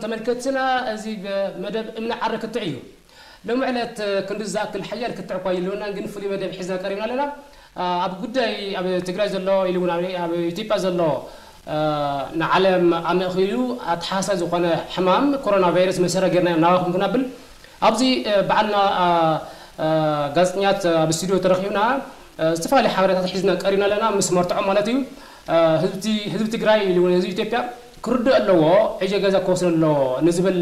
ተመልከትና፣ እዚ ብመደብ እምኒ ዓረ ክትዕ እዩ። ሎም ዕለት ክንዲ ዝኣክል ሓያል ክትዕ እኳ ይልውና፣ ግን ፍሉይ መደብ ሒዝና ቀሪብና ኣለና። ኣብ ጉዳይ ኣብ ትግራይ ዘሎ ኢሉ እውን ኣብ ኢትዮጵያ ዘሎ ንዓለም ኣመእኪሉ ኣተሓሳሳቢ ዝኾነ ሕማም ኮሮና ቫይረስ መሰረት ጌርና ናባኹም ክነብል ኣብዚ በዓልና ጋዜጠኛት ኣብ ስቱዲዮ ተረኺብና ዝተፈላለዩ ሓበሬታት ሒዝና ቀሪብና ኣለና፣ ምስ መርትዖ ማለት እዩ። ህዝቢ ትግራይ ኢሉ እውን ህዝቢ ኢትዮጵያ ክርድእ ኣለዎ። ዕጀ ገዛ ክወስድ ኣለዎ ንዝብል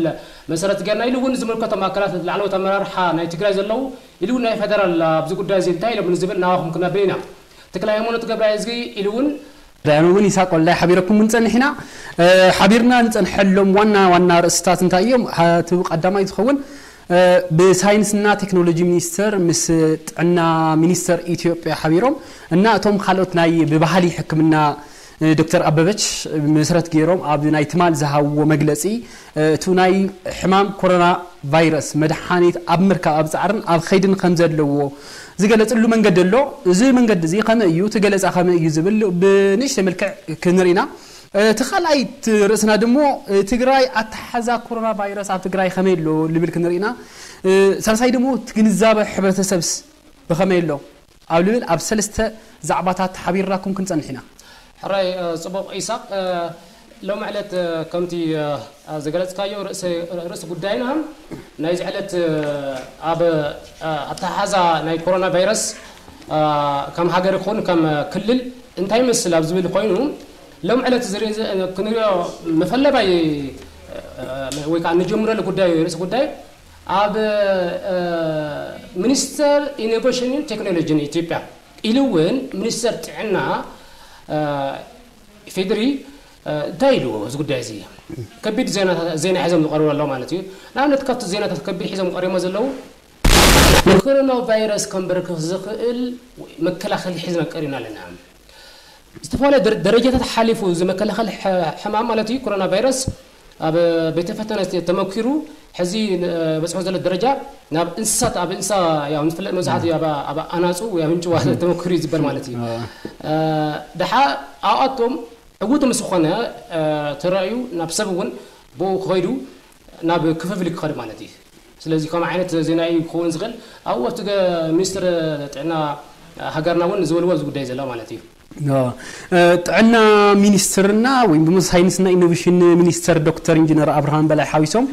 መሰረት ጌርና ኢሉ እውን ዝምልከቶም ኣካላት ላዕለዎት ኣመራርሓ ናይ ትግራይ ዘለዉ ኢሉ እውን ናይ ፌደራል ኣብዚ ጉዳይ እዚ እንታይ ኢሎም ንዝብል ናባኹም ክነብል ኢና። ተክለ ሃይማኖት ገብረ እዝጊ ኢሉ እውን ዳያኑ እውን ይሳቅ ወልዳይ ሓቢረኩም ክንፀንሕ ኢና። ሓቢርና ንፀንሐሎም ዋና ዋና ርእስታት እንታይ እዮም? እቲ ቀዳማይ ዝኸውን ብሳይንስና ቴክኖሎጂ ሚኒስተር ምስ ጥዕና ሚኒስተር ኢትዮጵያ ሓቢሮም እና እቶም ካልኦት ናይ ብባህሊ ሕክምና ዶክተር ኣበበች መሰረት ገይሮም ኣብ ናይ ትማል ዝሃብዎ መግለፂ እቱ ናይ ሕማም ኮሮና ቫይረስ መድሓኒት ኣብ ምርካብ ኣብ ፃዕርን ኣብ ኸይድን ከም ዘለዎ ዝገለፅሉ መንገዲ ኣሎ። እዚ መንገዲ እዚ ከመይ እዩ? እቲ ገለፃ ከመይ እዩ ዝብል ብንእሽተይ መልክዕ ክንርኢና። እቲ ካልኣይ ርእስና ድሞ ትግራይ ኣተሓዛ ኮሮና ቫይረስ ኣብ ትግራይ ከመይ ኣሎ ልብል ክንርኢና። ሳልሳይ ድሞ ግንዛበ ሕብረተሰብስ ብኸመይ ኣሎ ኣብ ልብል ኣብ ሰለስተ ዛዕባታት ሓቢርናኩም ክንፀንሕ ኢና። ሕራይ ፅቡቕ ኢሳቕ። ሎም ዕለት ከምቲ ዝገለፅካዮ ርእሲ ጉዳይና ናይዚ ዕለት ኣብ ኣተሓሓዛ ናይ ኮሮና ቫይረስ ከም ሃገር ይኹን ከም ክልል እንታይ ይመስል ኣብ ዝብል ኮይኑ ሎም ዕለት ክንሪኦ መፈለባይ ወይ ከዓ ንጀምረሉ ጉዳይ ርእሲ ጉዳይ ኣብ ሚኒስተር ኢኖቬሽንን ቴክኖሎጂን ኢትዮጵያ ኢሉ እውን ሚኒስተር ጥዕና ኢፌድሪ እንታይ ኢልዎ እዚ ጉዳይ እዚ ከቢድ ዜና ሒዞም ዝቀርቡ ኣለዉ ማለት እዩ። ንኣብነት ካብቲ ዜናታት ከቢድ ሒዞም ቀሪቦሞ ዘለዉ ንኮሮና ቫይረስ ከንበርክኽ ዝኽእል መከላኸሊ ሒዝና ቀሪብና ኣለና። ዝተፈላለዩ ደረጃታት ሓሊፉ እዚ መከላኸሊ ሕማም ማለት እዩ ኮሮና ቫይረስ ኣብ ቤተ ፈተነ ተመኪሩ ሕዚ በፅሖ ዘሎ ደረጃ ናብ እንስሳት ኣብ እንስሳ ያው ንፍለጥ መብዛሕትኡ ኣብ ኣናፁ ወይ ኣብ እንጭዋ ተመኪሩ እዩ ዝበል ማለት እዩ። ደሓ ኣብኣቶም ዕውት ምስ ዝኾነ ተራእዩ ናብ ሰብ እውን ብኡ ክኸይዱ ናብ ክፍፍል ክኸዱ ማለት እዩ። ስለዚ ከምኡ ዓይነት ዜና እዩ ክኸውን ዝኽእል። ኣብኡ ኣብቲ ሚኒስትር ጥዕና ሃገርና እውን ዝበልዎ እዚ ጉዳይ ዘሎ ማለት እዩ። ጥዕና ሚኒስትርና ወይም ድማ ሳይንስና ኢኖቬሽን ሚኒስተር ዶክተር ኢንጂነር ኣብርሃም በላይ ሓዊሶም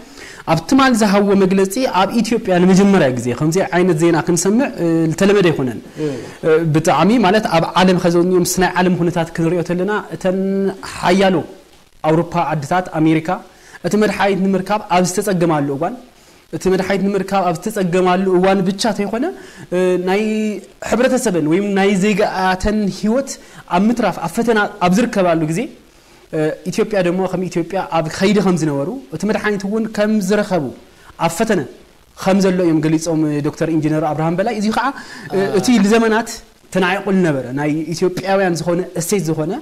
ኣብ ትማል ዝሃብዎ መግለፂ ኣብ ኢትዮጵያ ንመጀመርያ ግዜ ከምዚ ዓይነት ዜና ክንሰምዕ ዝተለመደ ኣይኮነን። ብጣዕሚ ማለት ኣብ ዓለም ከዘኒኦም ምስ ናይ ዓለም ኩነታት ክንሪኦ ተለና እተን ሓያሎ ኣውሮፓ ዓድታት ኣሜሪካ እቲ መድሓኒት ንምርካብ ኣብ ዝተፀገማሉ እዋን እቲ መድሓኒት ንምርካብ ኣብ ዝተፀገማሉ እዋን ብቻ ተይኮነ ናይ ሕብረተሰበን ወይም ናይ ዜጋኣተን ህይወት ኣብ ምትራፍ ኣብ ፈተና ኣብ ዝርከባሉ ግዜ ኢትዮጵያ ደሞ ከም ኢትዮጵያ ኣብ ከይዲ ከም ዝነበሩ እቲ መድሓኒት እውን ከም ዝረኸቡ ኣብ ፈተነ ከም ዘሎ እዮም ገሊፆም ዶክተር ኢንጂነር ኣብርሃም በላይ። እዚ ከዓ እቲ ንዘመናት ተናዒቑ ዝነበረ ናይ ኢትዮጵያውያን ዝኾነ እሴት ዝኾነ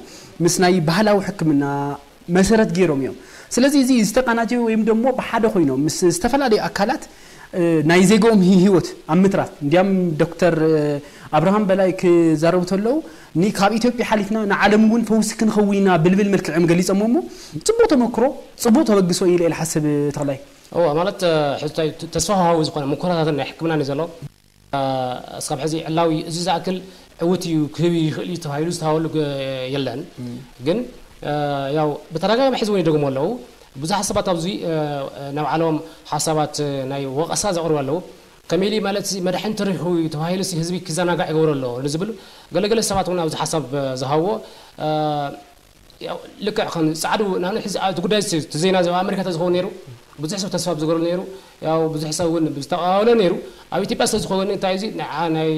ምስ ናይ ባህላዊ ሕክምና መሰረት ገይሮም እዮም። ስለዚ እዚ ዝተቀናጀ ወይም ደሞ ብሓደ ኮይኖም ምስ ዝተፈላለዩ ኣካላት ናይ ዜግኦም ህይወት ኣብ ምትራፍ እንዲያም ዶክተር ኣብርሃም በላይ ክዛረቡ ተለዉ ካብ ኢትዮጵያ ሓሊፍና ንዓለም እውን ፈውሲ ክንኸውን ኢና ብልብል መልክዕ እዮም ገሊፆሞ እሞ ፅቡቅ ተመክሮ ፅቡቅ ተበግሶ ኢለ ኢለ ሓስብ ተኽላይ። እዋ ማለት ተስፋ ሃዊ ዝኾነ ምኮራታትን ናይ ሕክምና ዘሎ እስካብ ሕዚ ዕላዊ እዚ ዝኣክል ዕውት እዩ ክህብ ይኽእል እዩ ተባሂሉ ዝተሃበሉ የለን። ግን ያው ብተደጋጋሚ ሕዚ እውን ይደግሞ ኣለዉ። ብዙሓት ሰባት ኣብዚ ናይ ባዕሎም ሓሳባት ናይ ወቐሳ ዘቕርቡ ኣለዉ። ከመይ ኢሉ ማለት መድሓኒት ተረኺቡ እዩ ተባሂሉ ህዝቢ ክዘናጋዕ ይገብሮ ኣሎ ንዝብል ገለገለ ሰባት እውን ኣብዚ ሓሳብ ዝሃብዎ ልክዕ ከም ፃዕዱ ንኣብነት ሕዚ እቲ ጉዳይ እቲ ዜና እዚ ኣብ ኣሜሪካ ተዝኸውን ነይሩ ብዙሕ ሰብ ተስፋ ብዝገበረሉ ነይሩ። ያው ብዙሕ ሰብ እውን ብዝተቃወሎ ነይሩ። ኣብ ኢትዮጵያ ስለ ዝኸውን እንታይ እዚ ናይ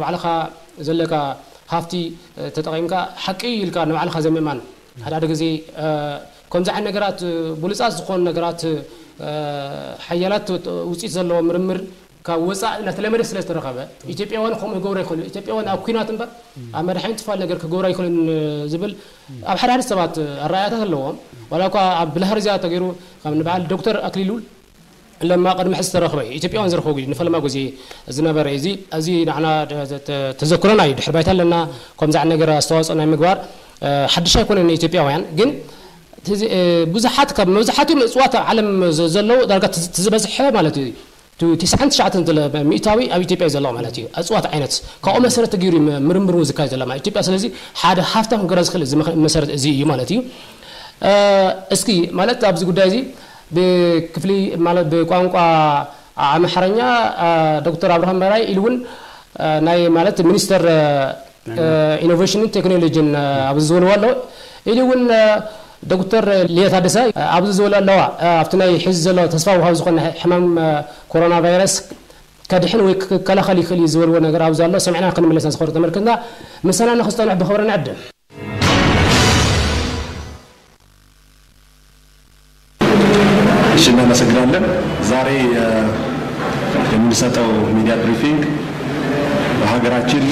ባዕልኻ ዘለካ ሃፍቲ ተጠቂምካ ሓቂ ኢልካ ንባዕልኻ ዘይምእማን ሓደ ሓደ ግዜ ከምዚ ዓይነት ነገራት ብሉፃት ዝኾኑ ነገራት ሓያላት ውፅኢት ዘለዎ ምርምር ካብ ወፃእ እናተለመደ ስለ ዝተረኸበ ኢትዮጵያውያን ከምኡ ክገብሩ ኣይኽእሉ። ኢትዮጵያውያን ኣብ ኲናት እምበር ኣብ መድሓኒት ትፋል ነገር ክገብሩ ኣይኽእሉን ዝብል ኣብ ሓደ ሓደ ሰባት ኣረኣያታት ኣለዎም። ዋላ እኳ ኣብ ብልሃርዝያ ተገይሩ ካብ ንበዓል ዶክተር ኣክሊሉ ለማ ቅድሚ ሕዚ ዝተረኽበ ኢትዮጵያውያን ዝረኸቡ እዩ ንፈለማ ግዜ ዝነበረ እዚ እዚ ንዓና ተዘክሮና እዩ። ድሕሪ ባይታ ኣለና ከምዚ ዓይነት ነገር ኣስተዋፅኦ ናይ ምግባር ሓድሽ ኣይኮነን ንኢትዮጵያውያን ግን ብዙሓት ካብ መብዛሕትኡ እፅዋት ኣብ ዓለም ዘለዉ ዳርጋ ትዝበዝሐ ማለት እዩ። ትስዓን ትሽዓተን ሚእታዊ ኣብ ኢትዮጵያ ዘሎ ማለት እዩ። እፅዋት ዓይነት ካብኡ መሰረት ገይሩ ምርምር እውን ዝካየድ ዘሎ ማለት ኢትዮጵያ። ስለዚ ሓደ ሃፍታም ክገራ ዝኽእል መሰረት እዚ እዩ ማለት እዩ። እስኪ ማለት ኣብዚ ጉዳይ እዚ ብክፍሊ ማለት ብቋንቋ ኣምሓርኛ ዶክተር ኣብርሃም በላይ ኢሉ እውን ናይ ማለት ሚኒስተር ኢኖቬሽንን ቴክኖሎጂን ኣብዚ ዝበልዎ ኣሎ። ኢሉ እውን ዶክተር ሊያ ታደሰ ኣብዚ ዝበልዎ ኣለዋ። ኣብቲ ናይ ሕዚ ዘሎ ተስፋ ውሃብ ዝኾነ ሕማም ኮሮና ቫይረስ ከድሕን ወይ ክከላኸል ይኽእል እዩ ዝበልዎ ነገር ኣብዚ ኣሎ። ሰሚዕና ክንምለስ ዝኸሩ ተመልክትና ምሳና ንክስጠንሑ ብኽብሪ ንዕድም። እሺ፣ እናመሰግናለን። ዛሬ የምንሰጠው ሚዲያ ብሪፊንግ በሀገራችን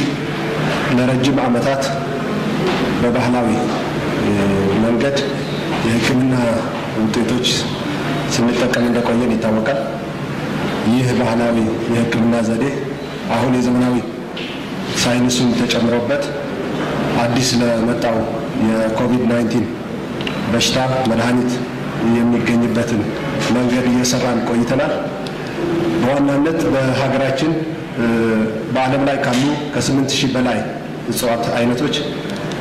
ለረጅም ዓመታት በባህላዊ መንገድ የህክምና ውጤቶች ስንጠቀም እንደቆየን ይታወቃል። ይህ ባህላዊ የህክምና ዘዴ አሁን የዘመናዊ ሳይንሱም ተጨምሮበት አዲስ ለመጣው የኮቪድ ናይንቲን በሽታ መድኃኒት የሚገኝበትን መንገድ እየሰራን ቆይተናል። በዋናነት በሀገራችን በዓለም ላይ ካሉ ከስምንት ሺህ በላይ እጽዋት አይነቶች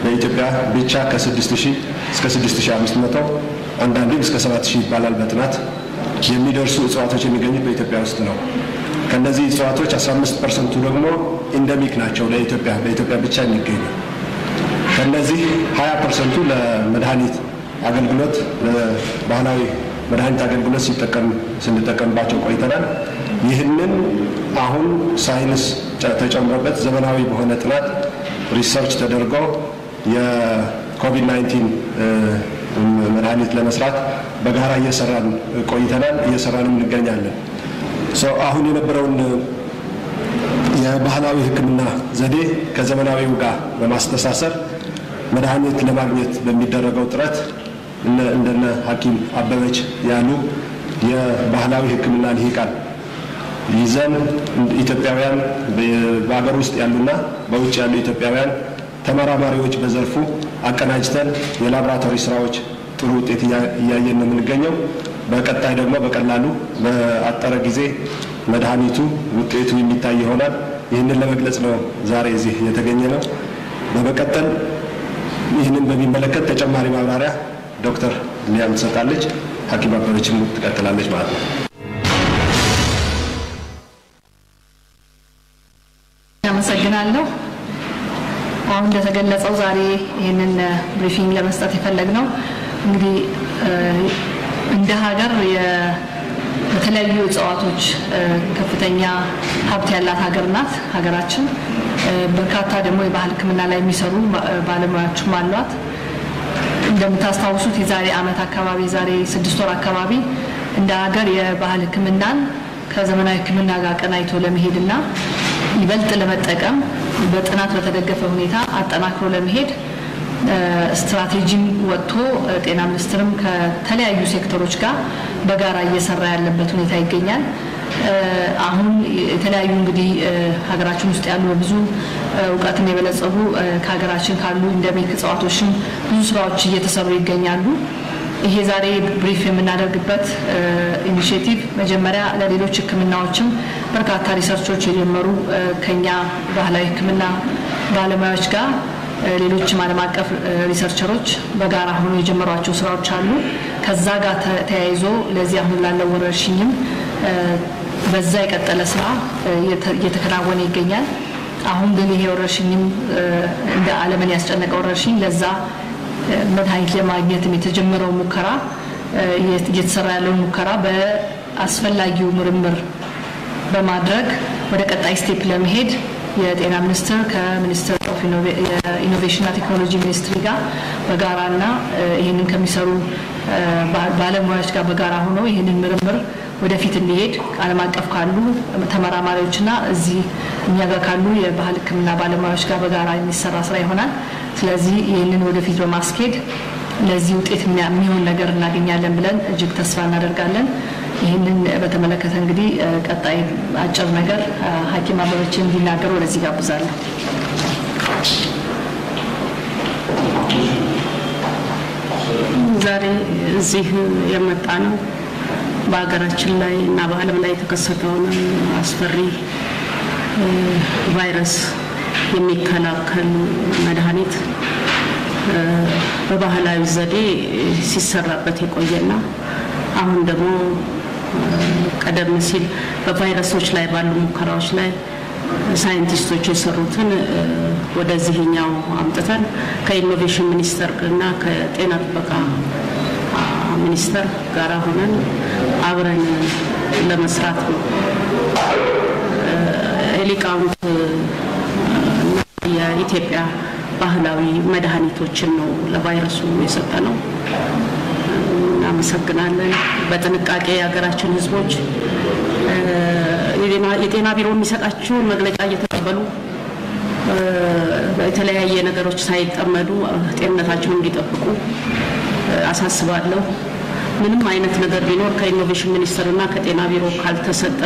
በኢትዮጵያ ብቻ ከስድስት ሺህ እስከ ስድስት ሺህ አምስት መቶ አንዳንዴም እስከ ሰባት ሺህ ይባላል በጥናት የሚደርሱ እጽዋቶች የሚገኙት በኢትዮጵያ ውስጥ ነው። ከነዚህ እጽዋቶች አስራ አምስት ፐርሰንቱ ደግሞ ኢንደሚክ ናቸው ለኢትዮጵያ፣ በኢትዮጵያ ብቻ የሚገኙ። ከነዚህ ሃያ ፐርሰንቱ ለመድኃኒት አገልግሎት፣ ለባህላዊ መድኃኒት አገልግሎት ሲጠቀም፣ ስንጠቀምባቸው ቆይተናል። ይህንን አሁን ሳይንስ ተጨምሮበት ዘመናዊ በሆነ ጥናት ሪሰርች ተደርጎ የኮቪድ ናይንቲን መድኃኒት ለመስራት በጋራ እየሰራን ቆይተናል፣ እየሰራንም እንገኛለን። አሁን የነበረውን የባህላዊ ህክምና ዘዴ ከዘመናዊው ጋር በማስተሳሰር መድኃኒት ለማግኘት በሚደረገው ጥረት እንደነ ሐኪም አበበች ያሉ የባህላዊ ህክምና ልሂቃን ይዘን ኢትዮጵያውያን በሀገር ውስጥ ያሉና በውጭ ያሉ ኢትዮጵያውያን ተመራማሪዎች በዘርፉ አቀናጅተን የላቦራቶሪ ስራዎች ጥሩ ውጤት እያየን ነው የምንገኘው። በቀጣይ ደግሞ በቀላሉ በአጠረ ጊዜ መድኃኒቱ ውጤቱ የሚታይ ይሆናል። ይህንን ለመግለጽ ነው ዛሬ እዚህ የተገኘነው። በመቀጠል ይህንን በሚመለከት ተጨማሪ ማብራሪያ ዶክተር ሊያም ትሰጣለች፣ ሐኪም አበበችም ትቀጥላለች ማለት ነው። አመሰግናለሁ። አሁን እንደተገለጸው ዛሬ ይህንን ብሪፊንግ ለመስጠት የፈለግነው እንግዲህ እንደ ሀገር በተለያዩ እጽዋቶች ከፍተኛ ሀብት ያላት ሀገር ናት ሀገራችን። በርካታ ደግሞ የባህል ህክምና ላይ የሚሰሩ ባለሙያዎችም አሏት። እንደምታስታውሱት የዛሬ አመት አካባቢ፣ የዛሬ ስድስት ወር አካባቢ እንደ ሀገር የባህል ህክምናን ከዘመናዊ ህክምና ጋር አቀናጅቶ ለመሄድና ይበልጥ ለመጠቀም በጥናት በተደገፈ ሁኔታ አጠናክሮ ለመሄድ ስትራቴጂም ወጥቶ ጤና ሚኒስቴርም ከተለያዩ ሴክተሮች ጋር በጋራ እየሰራ ያለበት ሁኔታ ይገኛል። አሁን የተለያዩ እንግዲህ ሀገራችን ውስጥ ያሉ በብዙ እውቀትም የበለጸጉ ከሀገራችን ካሉ ኢንደሚክ እጽዋቶችም ብዙ ስራዎች እየተሰሩ ይገኛሉ። ይሄ ዛሬ ብሪፍ የምናደርግበት ኢኒሼቲቭ መጀመሪያ ለሌሎች ህክምናዎችም በርካታ ሪሰርቾች የጀመሩ ከኛ ባህላዊ ህክምና ባለሙያዎች ጋር ሌሎችም ዓለም አቀፍ ሪሰርቸሮች በጋራ ሆኖ የጀመሯቸው ስራዎች አሉ። ከዛ ጋር ተያይዞ ለዚህ አሁን ላለው ወረርሽኝም በዛ የቀጠለ ስራ እየተከናወነ ይገኛል። አሁን ግን ይሄ ወረርሽኝም እንደ ዓለምን ያስጨነቀ ወረርሽኝ ለዛ መድኃኒት ለማግኘትም የተጀመረው ሙከራ እየተሰራ ያለውን ሙከራ በአስፈላጊው ምርምር በማድረግ ወደ ቀጣይ ስቴፕ ለመሄድ የጤና ሚኒስቴር ከ Ministry of Innovation እና Technology ሚኒስትሪ ጋር በጋራና ይህንን ከሚሰሩ ባለሙያዎች ጋር በጋራ ሆነው ይህንን ምርምር ወደፊት እንዲሄድ ዓለም አቀፍ ካሉ ተመራማሪዎችና እዚህ እኛ ጋር ካሉ የባህል ህክምና ባለሙያዎች ጋር በጋራ የሚሰራ ስራ ይሆናል። ስለዚህ ይህንን ወደፊት በማስኬድ ለዚህ ውጤት የሚሆን ነገር እናገኛለን ብለን እጅግ ተስፋ እናደርጋለን። ይህንን በተመለከተ እንግዲህ ቀጣይ አጭር ነገር ሐኪም አበበችን እንዲናገሩ ወደዚህ ጋብዛለሁ። ዛሬ እዚህ የመጣነው በሀገራችን ላይ እና በዓለም ላይ የተከሰተውን አስፈሪ እ፣ ቫይረስ የሚከላከል መድኃኒት እ፣ በባህላዊ ዘዴ ሲሰራበት የቆየና አሁን ደግሞ እ፣ ቀደም ሲል በቫይረሶች ላይ ባሉ ሙከራዎች ላይ ሳይንቲስቶች የሰሩትን እ፣ ወደዚህኛው አምጥተን ከኢኖቬሽን ሚኒስቴር እና ከጤና ጥበቃ አ፣ ሚኒስቴር ጋር ሆነን አብረን ለመስራት ነው። እ፣ የሊቃውንት እና የኢትዮጵያ ባህላዊ መድኃኒቶችን ነው ለቫይረሱ የሰጠነው። እናመሰግናለን። በጥንቃቄ የሀገራችን ህዝቦች እ፣ የጤና የጤና ቢሮ የሚሰጣቸውን መግለጫ እየተቀበሉ እ፣ የተለያየ ነገሮች ሳይጠመዱ ጤንነታቸውን እንዲጠብቁ እ፣ አሳስባለሁ። ምንም አይነት ነገር ቢኖር ከኢኖቬሽን ሚኒስቴር እና ከጤና ቢሮ ካልተሰጠ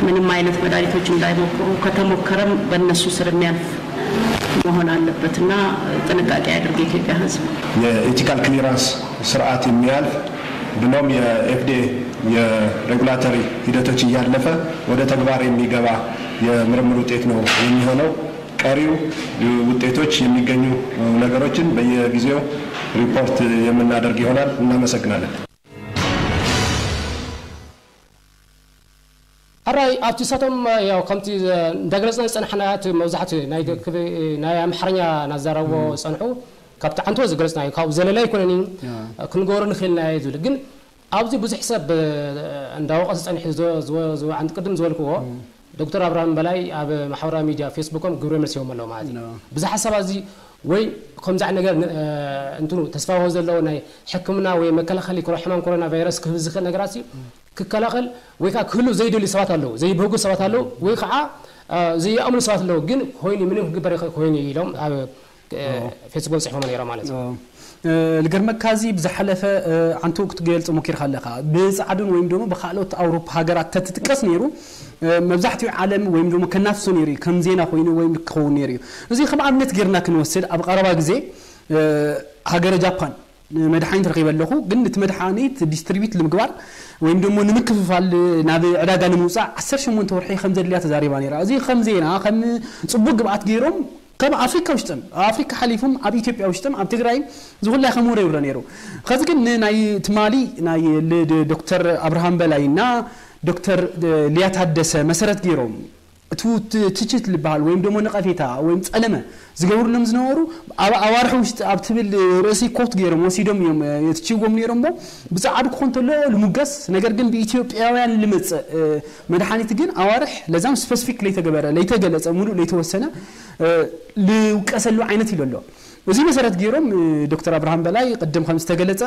ምንም አይነት መድኃኒቶች እንዳይሞክሩ፣ ከተሞከረም በእነሱ ስር የሚያልፍ መሆን አለበት እና ጥንቃቄ ያድርግ የኢትዮጵያ ህዝብ። የኤቲካል ክሊራንስ ስርዓት የሚያልፍ ብሎም የ ኤፍ ዲ ኤ የሬጉላቶሪ ሂደቶች እያለፈ ወደ ተግባር የሚገባ የምርምር ውጤት ነው የሚሆነው። ቀሪው ውጤቶች የሚገኙ ነገሮችን በየጊዜው ሪፖርት የምናደርግ ይሆናል። እናመሰግናለን። ሕራይ ኣብቲ ሳቶም ያው ከምቲ እንዳገለፅና ዝፀናሕና እቲ መብዛሕትኡ ናይ ክብ- ናይ ኣምሓርኛ እናዛረብዎ ዝፀንሑ ካብቲ ዓንቶ ዝገለፅና እዩ። ካብኡ ዘለለ ኣይኮነን እዩ። ክንገብሮ ንኽእል ኢና እዩ ዝብል ግን ኣብዚ ብዙሕ ሰብ እንዳወቐሰ ፀኒሑ ዝወ- ዝወ- ዝወ- ዓንዲ ቅድም ዝበልክዎ ዶክተር ኣብርሃም በላይ ኣብ ማሕበራዊ ሚድያ ፌስቡኮም ግብረ መልሲ ሂቦም ኣለዉ ማለት እዩ። ብዙሕ ሓሳብ ኣዚ ወይ ከምዚ ዓይነት ነገር ን- እንትኑ ተስፋ ዘለዎ ናይ ሕክምና ወይ መከላኸሊ ኮሮ- ሕማም ኮሮና ቫይረስ ክህብ ዝኽእል ነገራት ሲ ክከላኸል ወይ ከዓ ክህሉ ዘይደልዩ ሰባት ኣለዉ፣ ዘይብህጉ ሰባት ኣለዉ ወይ ከዓ እ፣ ዘይኣምኑ ሰባት ኣለዉ። ግን ኮይኑ ምንም ክግበር ይኽእል ኮይኑ እዩ ኢሎም ኣብ እ፣ ፌስቡክ ፅሒፎም ነይሮም ማለት እዩ። እ፣ ልገርመካ እዚ ብዝሓለፈ እ፣ ዓንቱ ክትገልፅ ሞኪርካ ኣለካ ብፃዕዱን ወይም ደግሞ ብካልኦት ኣውሮፓ ሃገራት ተትጥቀስ ነይሩ እ፣ መብዛሕትኡ ዓለም ወይም ደግሞ ከናፍሶ ነይሩ እዩ ከም ዜና ኮይኑ ወይም ክኸውን ነይሩ እዩ። እዚ ከም ኣብነት ጌርና ክንወስድ ኣብ ቀረባ ግዜ እ፣ ሃገረ ጃፓን ንመድሓኒት ረኺበ ኣለኹ ግን እቲ መድሓኒት ዲስትሪቢዩት ንምግባር ወይም ደሞ ንምክፍፋል ናብ ዕዳጋ ንምውፃእ ዓሰርተ ሸሞንተ ወርሒ ከም ዘድልያ ተዛሪባ ነይራ። እዚ ከም ዜና ከም ፅቡቅ ግብኣት ገይሮም ከም ኣፍሪካ ውሽጥም ኣብ ኣፍሪካ ሓሊፉም ኣብ ኢትዮጵያ ውሽጥም ኣብ ትግራይ ዝኩላይ ከም ወረ ይውረ ነይሩ። ከዚ ግን ንናይ ትማሊ ናይ ል- ድ- ዶክተር ኣብርሃም በላይና ዶክተር ሊያ ታደሰ መሰረት ገይሮም እቲ ት- ትችት ዝበሃል ወይም ደሞ ነቐፌታ ወይም ጸለመ ዝገብሩሎም ዝነበሩ ኣብ ኣዋርሒ ውሽጢ ኣብ ትብል ርእሲ ኮት ገይሮም ወሲዶም እዮም እ፣ የትችዎም ነይሮም እሞ ብጻዕዱ ክኾን ተሎ ልሙገስ ነገር ግን ብኢትዮጵያውያን ልመጽእ እ፣ መድሓኒት ግን ኣዋርሕ ለዛም ስፐሲፊክ ለይተገበረ ለይተገለጸ ሙሉእ ለይተወሰነ እ፣ ልውቀሰሉ ዓይነት ኢሉ ኣሎ። እዚ መሰረት ገይሮም እ፣ ዶክተር ኣብርሃም በላይ ቅድም ከም ዝተገለጸ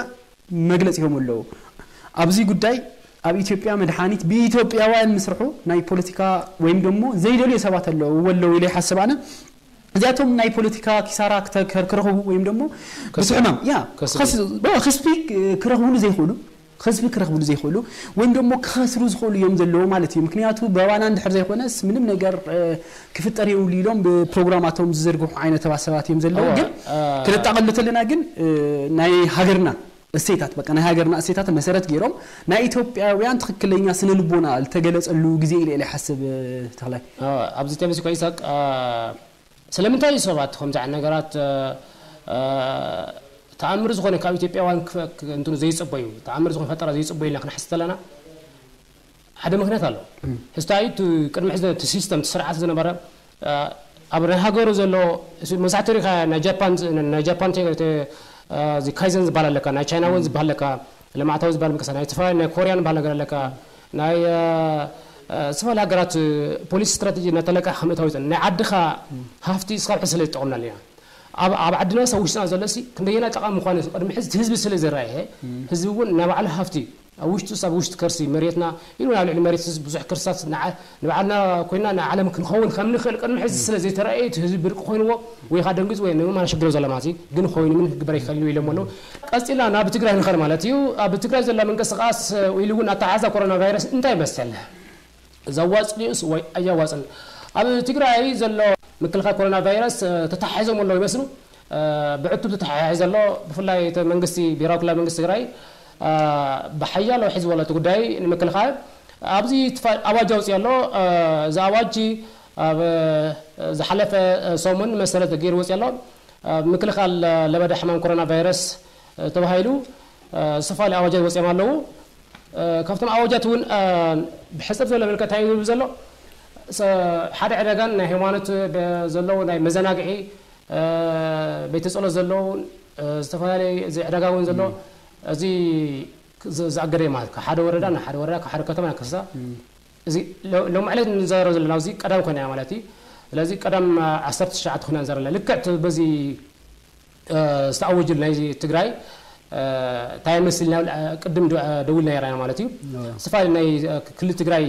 መግለፂ ሂቦም ኣለዉ። ኣብዚ ጉዳይ ኣብ ኢትዮጵያ መድሓኒት ብኢትዮጵያውያን ምስርሑ ናይ ፖለቲካ ወይም ደሞ ዘይደልዮ ሰባት ኣለዉ ኣለዉ ኢለ ይሓስብ ኣነ። እዚኣቶም ናይ ፖለቲካ ኪሳራ ክተ- ክረኽቡ ወይም ደሞ ብቲ ሕማም ያ ከስቢ ክረኽብሉ ዘይኽእሉ ከስቢ ክረኽብሉ ዘይኽእሉ ወይም ደሞ ክኸስሩ ዝኽእሉ እዮም ዘለዉ ማለት እዩ። ምክንያቱ በባና እንድሕር ዘይኮነስ ምንም ነገር ክፍጠር የብሉ ኢሎም ብፕሮግራማቶም ዝዝርግሑ ዓይነት ሰባት እዮም ዘለዉ። ግን ክነጣቐሉ ተለና ግን ናይ ሃገርና እሴታት በቃ ናይ ሃገርና እሴታት መሰረት ገይሮም ናይ ኢትዮጵያውያን ትኽክለኛ ስነ ልቦና ዝተገለፀሉ ግዜ ኢለ ኢለ ይሓስብ። ተኽላይ ኣብዚ ተምሲ ኮይሳቅ ስለምንታይ እዩ ሰባት ከምዚ ዓይነት ነገራት ተኣምር ዝኾነ ካብ ኢትዮጵያውያን እንትኑ ዘይፅበዩ ተኣምር ዝኾነ ፈጠራ ዘይፅበዩ ኢልና ክንሓስብ ተለና ሓደ ምክንያት ኣሎ። ሕዝታ እዩ እቲ ቅድሚ ሕዚ እቲ ሲስተም እቲ ስርዓት ዝነበረ ኣብ ናይ ሃገሩ ዘሎ መብዛሕትኡ ሪኻ ናይ ጃፓን ናይ ጃፓን እዚ ካይዘን ዝበሃል ኣለካ ናይ ቻይና እውን ዝበሃል ኣለካ ልምዓታዊ ዝበሃል ምንቅስቃስ ናይ ተፈላለዩ ናይ ኮርያን ዝበሃል ነገር ኣለካ ናይ ዝተፈላለዩ ሃገራት ፖሊሲ ስትራቴጂ እናተለቀ ከምእታዊ ናይ ዓድኻ ሃፍቲ እስካብ ሕዚ ስለ ዝጠቐምናሉ ኢና ኣብ ኣብ ዓድና ሰብ ውሽጥና ዘሎ ሲ ክንደየና ጠቓሚ ምዃኑ ቅድሚ ሕዚ ህዝቢ ስለ ዝረኣየ ህዝቢ እውን ናይ ባዕሉ ሃፍቲ ኣብ ውሽጡ ኣብ ውሽጢ ከርሲ መሬትና ኢሉ ናብ ልዕሊ መሬት ህዝቢ ብዙሕ ከርሲታት ንባዕልና ኮይና ንዓለም ክንኸውን ከም ንኽእል ቅድሚ ሕዚ ስለ ዘይተረኣየ እቲ ህዝቢ ብርቂ ኮይንዎ ወይ ከዓ ደንግፅ ወይ ንመማና ሽግር ዘሎ ማለት ግን ኮይኑ ምን ክግበር ይኽእል ኢሎም ኣለዉ። ቀፂልና ናብ ትግራይ ንኸድ ማለት እዩ። ኣብ ትግራይ ዘሎ ምንቅስቃስ ኢሉ እውን ኣተሓዛ ኮሮና ቫይረስ እንታይ ይመስል? ዘዋፅን እዩስ ወይ ኣያዋፅን? ኣብ ትግራይ ዘሎ ምክልኻል ኮሮና ቫይረስ ተታሒዞም ኣለዉ ይመስሉ። ብዕቱብ ተተሓሒዙ ዘሎ። ብፍላይ እቲ መንግስቲ፣ ብሄራዊ ክልላዊ መንግስቲ ትግራይ ብሓያሎ ሒዝዎ ኣሎ እቲ ጉዳይ ንምክልኻል። ኣብዚ ኣዋጅ ኣውፅኡ ኣሎ። እዚ ኣዋጅ ኣብ ዝሓለፈ ሰሙን መሰረት ገይሩ ወፅኡ ኣሎ። ምክልኻል ለበዳ ሕማም ኮሮና ቫይረስ ተባሂሉ ዝተፈላለዩ ኣዋጃት ወፂኦም ኣለዉ። ካብቶም ኣዋጃት እውን ብሕፅር ዝበለ መልክዕ እንታይ እዩ ዝብል ዘሎ? ሓደ ዕዳጋን ናይ ሃይማኖት ዘለዉ ናይ መዘናግዒ ቤተ ፀሎት ዘለዉ ዝተፈላለዩ፣ እዚ ዕዳጋ እውን ዘሎ፣ እዚ ዝኣገደ ማለት ካብ ሓደ ወረዳ ናብ ሓደ ወረዳ፣ ካብ ሓደ ከተማ ናብ ከተማ፣ እዚ ሎሚ ዕለት ንዛረብ ዘለና እዚ ቀዳም ኮይና ማለት እዩ። ስለዚ ቀዳም ዓሰርተ ትሽዓተ ኮይና ንዛረብ ዘለና ልክዕ በዚ ዝተኣወጀሉ ናይ ትግራይ እንታይ ይመስል? ቅድም ደውልና ነርና ማለት እዩ። ዝተፈላለዩ ናይ ክልል ትግራይ